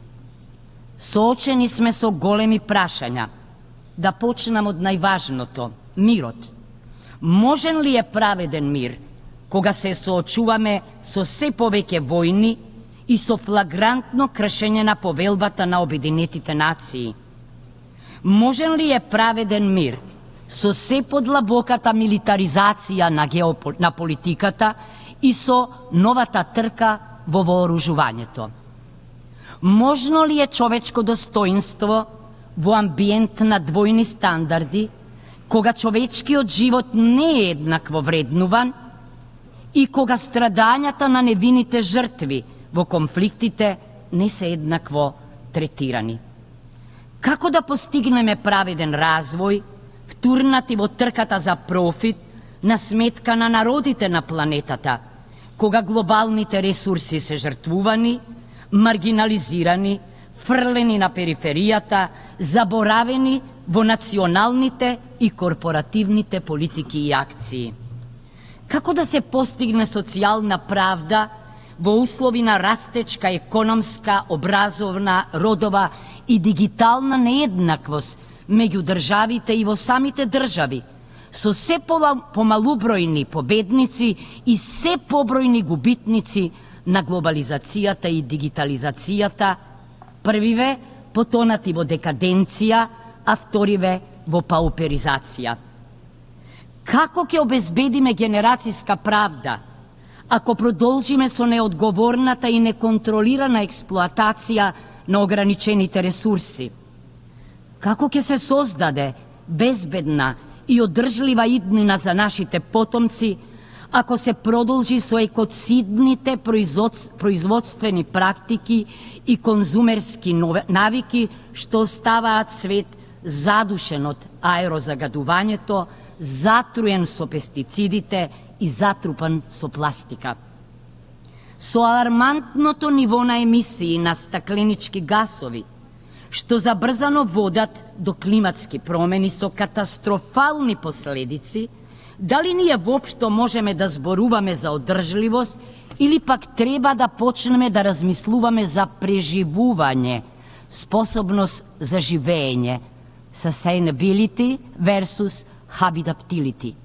Соочени сме со големи прашања. Да почнам од најважното – мирот. Можен ли е праведен мир кога се соочуваме со се повеќе војни и со флагрантно кршење на повелбата на Обединетите нации? Можен ли е праведен мир со се подлабоката милитаризација на, геопол... на политиката и со новата трка во вооружувањето? Можно ли е човечко достоинство во амбиент на двојни стандарди, кога човечкиот живот не е еднакво вреднуван и кога страдањата на невините жртви во конфликтите не се еднакво третирани? Како да постигнеме праведен развој, втурнати во трката за профит на сметка на народите на планетата, кога глобалните ресурси се жртвувани, маргинализирани, фрлени на периферијата, заборавени во националните и корпоративните политики и акции? Како да се постигне социјална правда во услови на растечка економска, образовна, родова и дигитална нееднаквост меѓу државите и во самите држави, со се помалубројни победници и се побројни губитници на глобализацијата и дигитализацијата, првиве потонати во декаденција, а вториве во пауперизација? Како ќе обезбедиме генерацијска правда, ако продолжиме со неодговорната и неконтролирана експлоатација на ограничените ресурси? Како ќе се создаде безбедна и одржлива иднина за нашите потомци, ако се продолжи со екоцидните производствени практики и конзумерски навики што оставаат свет задушен од аерозагадувањето, затруен со пестицидите и затрупан со пластика? Со алармантното ниво на емисии на стакленички гасови, што забрзано водат до климатски промени со катастрофални последици, дали ние воопшто можеме да зборуваме за одржливост или пак треба да почнеме да размислуваме за преживување, способност за живење, sustainability versus habitability?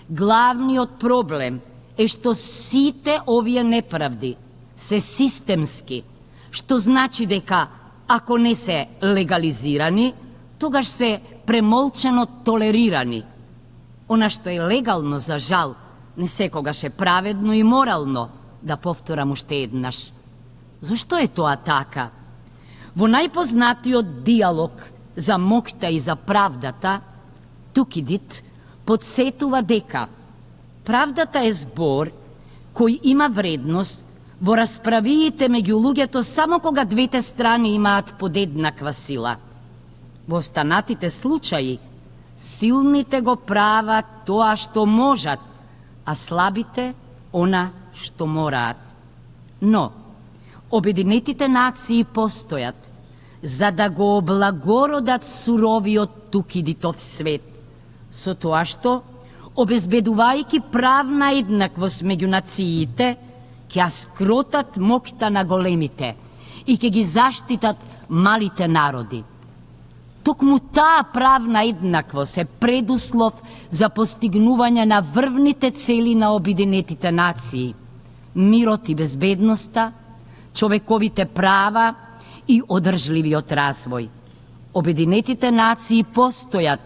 Главниот проблем е што сите овие неправди се системски, што значи дека ако не се легализирани, тогаш се премолчено толерирани. Она што е легално, за жал, не секогаш е праведно и морално, да повторам уште еднаш. Зошто е тоа така? Во најпознатиот диалог за моќта и за правдата, Тукидид подсетува дека правдата е збор кој има вредност во расправиите меѓу луѓето само кога двете страни имаат подеднаква сила. Во останатите случаи, силните го прават тоа што можат, а слабите она што мораат. Но, Обединетите нации постојат за да го облагородат суровиот тукидитов свет, со тоа што, обезбедувајќи правна еднаквост меѓу нациите, ќе скротат моќта на големите и ќе ги заштитат малите народи. Токму таа правна еднаквост е предуслов за постигнување на врвните цели на Обединетите нации: мирот и безбедноста, човековите права и одржливиот развој. Обединетите нации постојат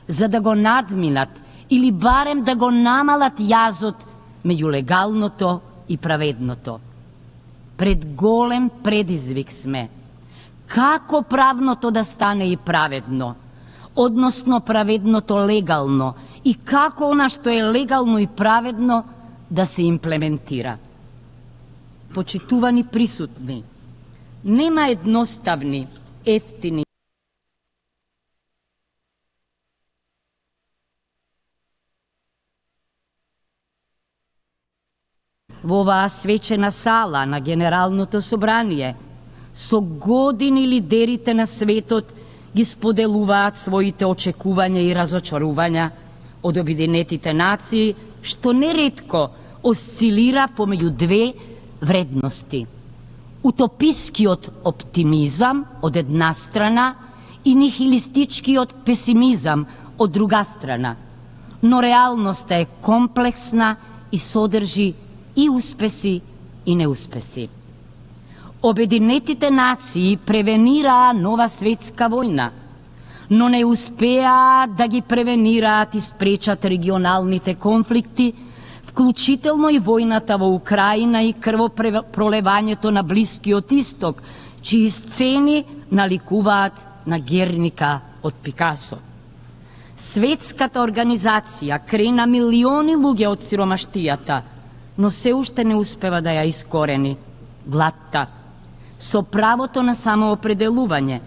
за да го надминат или барем да го намалат јазот меѓу легалното и праведното. Пред голем предизвик сме. Како правното да стане и праведно, односно праведното легално, и како она што е легално и праведно да се имплементира. Почитувани присутни, нема едноставни, ефтини во оваа свечена сала на Генералното собрание. Со години лидерите на светот ги споделуваат своите очекувања и разочарувања од Обединетите нации, што неретко осцилира помеѓу две вредности: утопискиот оптимизам од една страна и нихилистичкиот песимизам од друга страна. Но реалноста е комплексна и содржи и успеси и неуспеси. Обединетите нации превенираа нова светска војна, но не успеаа да ги превенираат и спречат регионалните конфликти, вклучително и војната во Украина и крвопролевањето на Блискиот Исток, чии сцени наликуваат на Герника од Пикасо. Светската организација крена милиони луѓе од сиромаштијата, но се уште не успева да ја искорени. Гладта, со правото на самоопределување,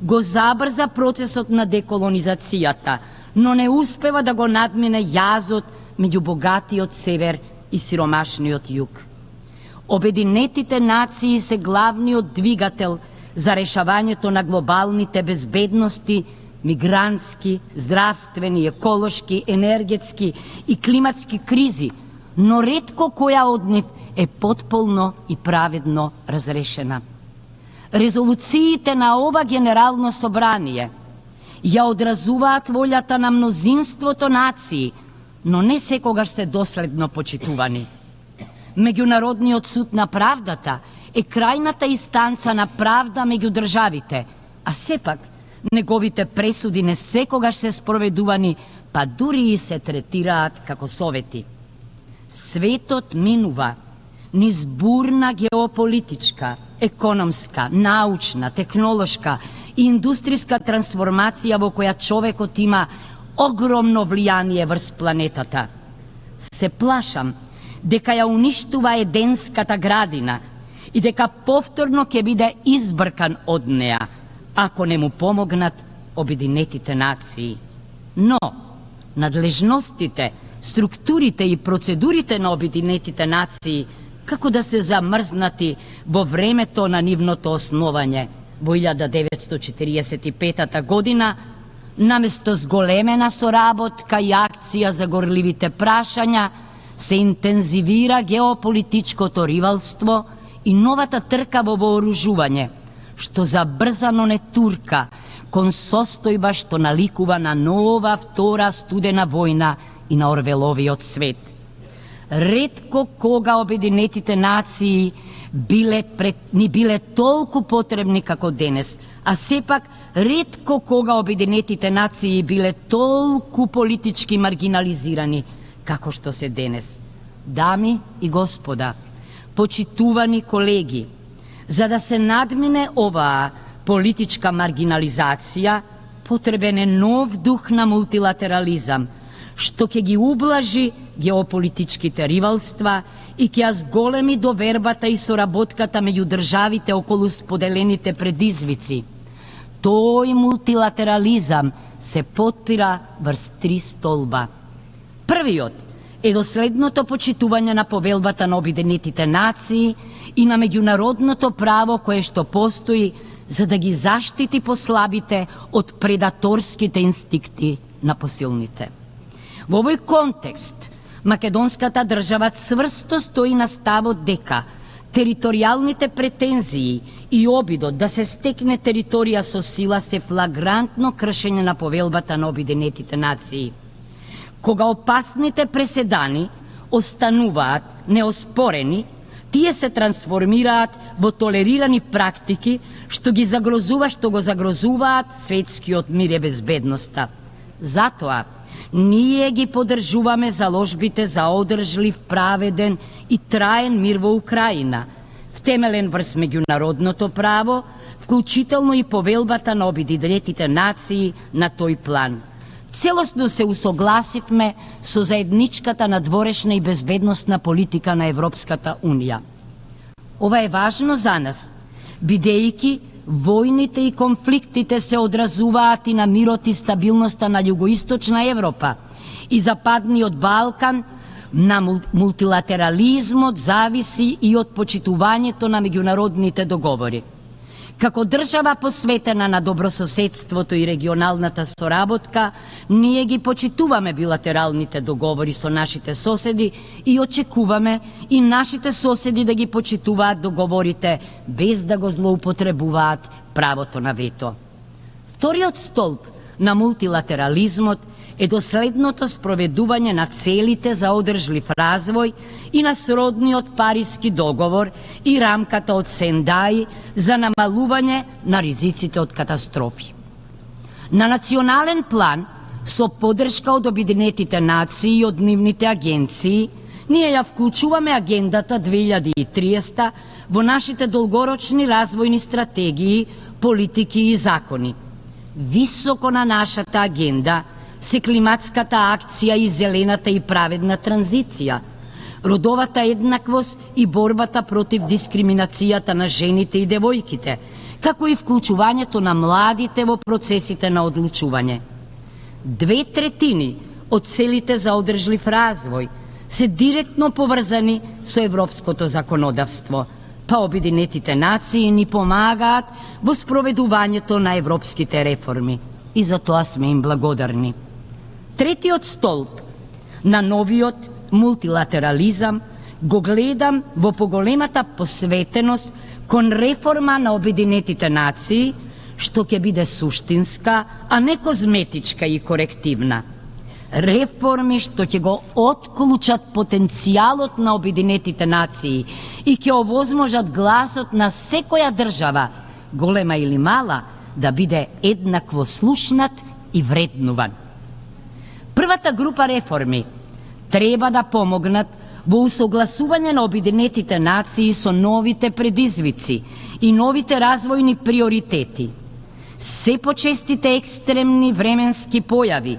го забрза процесот на деколонизацијата, но не успева да го надмине јазот меѓу богатиот север и сиромашниот југ. Обединетите нации се главниот двигател за решавањето на глобалните безбедности, мигрантски, здравствени, еколошки, енергетски и климатски кризи, но ретко која од нив е потполно и праведно разрешена. Резолуциите на ова Генерално собрание ја одразуваат волјата на мнозинството нации, но не секогаш се доследно почитувани. Меѓународниот суд на правдата е крајната инстанца на правда меѓу државите, а сепак неговите пресуди не секогаш се спроведувани, па дури и се третираат како совети. Светот минува низ бурна геополитичка, економска, научна, технолошка и индустријска трансформација во која човекот има огромно влијание врз планетата. Се плашам дека ја уништува еденската градина и дека повторно ќе биде избркан од неа, ако не му помогнат Обединетите нации. Но надлежностите, структурите и процедурите на Обединетите нации како да се замрзнати во времето на нивното основање во илјада деветстотини четириесет и петата година, наместо зголемена соработка и акција за горливите прашања, се интензивира геополитичкото ривалство и новата трка во вооружување, што забрзано не турка кон состојба што наликува на нова втора студена војна и на Орвеловиот свет. Ретко кога Обединетите нации биле пред, ни биле толку потребни како денес, а сепак ретко кога Обединетите нации биле толку политички маргинализирани како што се денес. Дами и господа, почитувани колеги, за да се надмине оваа политичка маргинализација, потребен е нов дух на мултилатерализам, што ќе ги ублажи геополитичките ривалства и ќе ја зголеми довербата и соработката меѓу државите околу споделените предизвици. Тој мултилатерализам се потпира врз три столба. Првиот е доследното почитување на повелбата на Обединетите нации и на меѓународното право кое што постои за да ги заштити послабите од предаторските инстинкти на посилните. Во овој контекст, македонската држава цврсто стои на ставот дека територијалните претензии и обидот да се стекне територија со сила се флагрантно кршење на повелбата на Обединетите нации. Кога опасните преседани остануваат неоспорени, тие се трансформираат во толерирани практики што ги загрозува, што го загрозуваат светскиот мир и безбедноста. Затоа, ние ги поддржуваме заложбите за одржлив, праведен и траен мир во Украина, втемелен врз меѓународното право, вклучително и повелбата на Обединетите нации на тој план. Целосно се усогласивме со заедничката надворешна и безбедносна политика на Европската Унија. Ова е важно за нас, бидејќи војните и конфликтите се одразуваат и на мирот и стабилноста на југоисточна Европа и Западниот Балкан, на мултилатерализмот зависи и од почитувањето на меѓународните договори. Како држава посветена на добрососедството и регионалната соработка, ние ги почитуваме билатералните договори со нашите соседи и очекуваме и нашите соседи да ги почитуваат договорите без да го злоупотребуваат правото на вето. Вториот столб на мултилатерализмот е доследното спроведување на целите за одржлив развој и на сродниот Париски договор и рамката од Сендај за намалување на ризиците од катастрофи. На национален план, со поддршка од Обединетите нации и од нивните агенции, ние ја вклучуваме агендата две илјади и триесета во нашите долгорочни развојни стратегии, политики и закони. Високо на нашата агенда се климатската акција и зелената и праведна транзиција, родовата еднаквост и борбата против дискриминацијата на жените и девојките, како и вклучувањето на младите во процесите на одлучување. Две третини од целите за одржлив развој се директно поврзани со европското законодавство, па Обединетите нации ни помагаат во спроведувањето на европските реформи и за тоа сме им благодарни. Третиот столб на новиот мултилатерализам го гледам во поголемата посветеност кон реформа на Обединетите нации, што ќе биде суштинска, а не козметичка и корективна. Реформи што ќе го отклучат потенцијалот на Обединетите нации и ќе овозможат гласот на секоја држава, голема или мала, да биде еднакво слушнат и вреднуван. Првата група реформи треба да помогнат во усогласување на Обединетите нации со новите предизвици и новите развојни приоритети. Се почестите екстремни временски појави,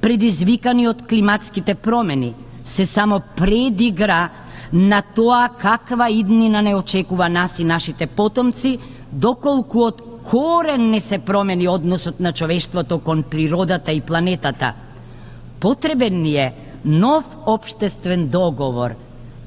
предизвикани од климатските промени, се само предигра на тоа каква иднина не очекува нас и нашите потомци, доколку од корен не се промени односот на човештвото кон природата и планетата. Потребен ни е нов општествен договор,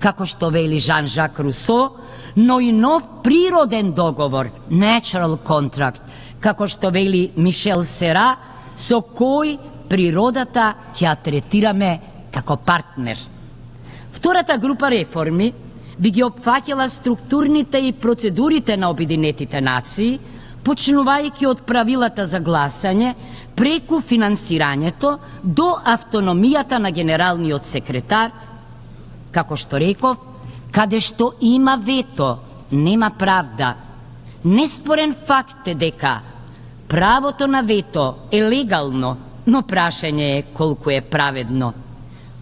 како што вели Жан-Жак Русо, но и нов природен договор, natural contract, како што вели Мишел Сера, со кој природата ќе ја третираме како партнер. Втората група реформи би ги опфаќала структурните и процедурите на Обединетите нации, почнувајќи од правилата за гласање, преку финансирањето до автономијата на генералниот секретар, како што реков, каде што има вето, нема правда. Неспорен факт е дека правото на вето е легално, но прашање е колку е праведно.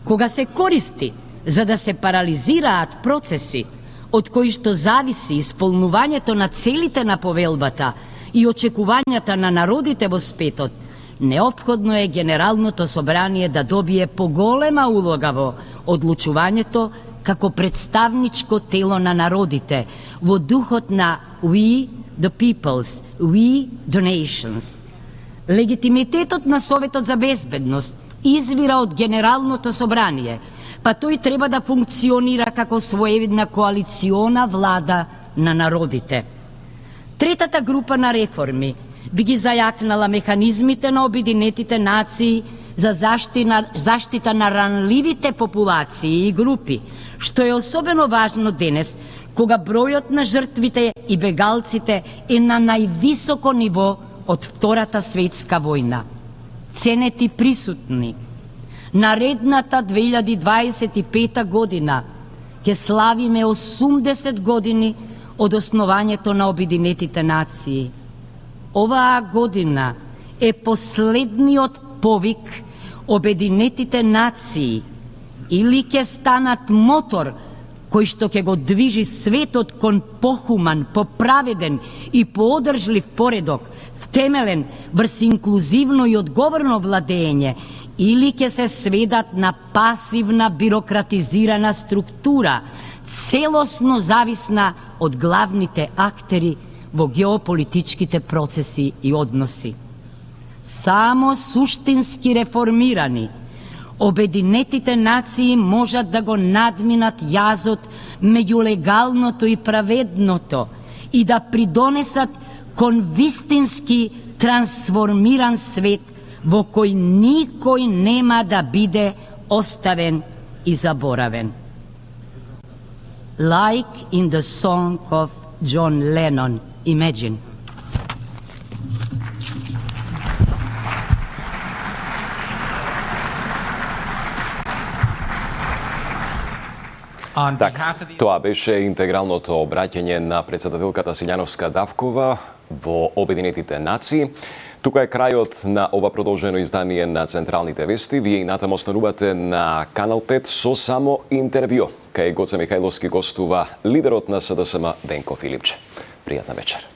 Кога се користи за да се парализираат процеси, од кои што зависи исполнувањето на целите на повелбата и очекувањата на народите во светот, неопходно е Генералното собрание да добие поголема улога во одлучувањето, како представничко тело на народите во духот на We the Peoples, We the Nations. Легитимитетот на Советот за безбедност извира од Генералното собрание, па тој треба да функционира како своевидна коалициона влада на народите. Третата група на реформи би ги зајакнала механизмите на Обединетите нации за заштина, заштита на ранливите популации и групи, што е особено важно денес, кога бројот на жртвите и бегалците е на највисоко ниво од Втората светска војна. Ценети присутни, наредната две илјади дваесет и пета година ќе славиме осумдесет години од основањето на Обединетите нации. Оваа година е последниот повик Обединетите нации или ќе станат мотор кој што ќе го движи светот кон похуман, поправеден и поодржлив поредок, втемелен врз инклузивно и одговорно владење, или ќе се сведат на пасивна бирократизирана структура, целосно зависна од главните актери во геополитичките процеси и односи. Само суштински реформирани, Обединетите нации можат да го надминат јазот меѓу легалното и праведното и да придонесат кон вистински трансформиран свет во кој никој нема да биде оставен и заборавен. Like in the song of John Lennon, Imagine. Така, тоа беше интегралното обраќање на председателката Силјановска Давкова во Обединетите нации. Тука е крајот на ова продолжено издание на Централните вести. Вие и натаму останувате на Канал пет со само интервју. Кај Гоце Михајловски гостува лидерот на СДСМ Денко Филипче. Пријатна вечер.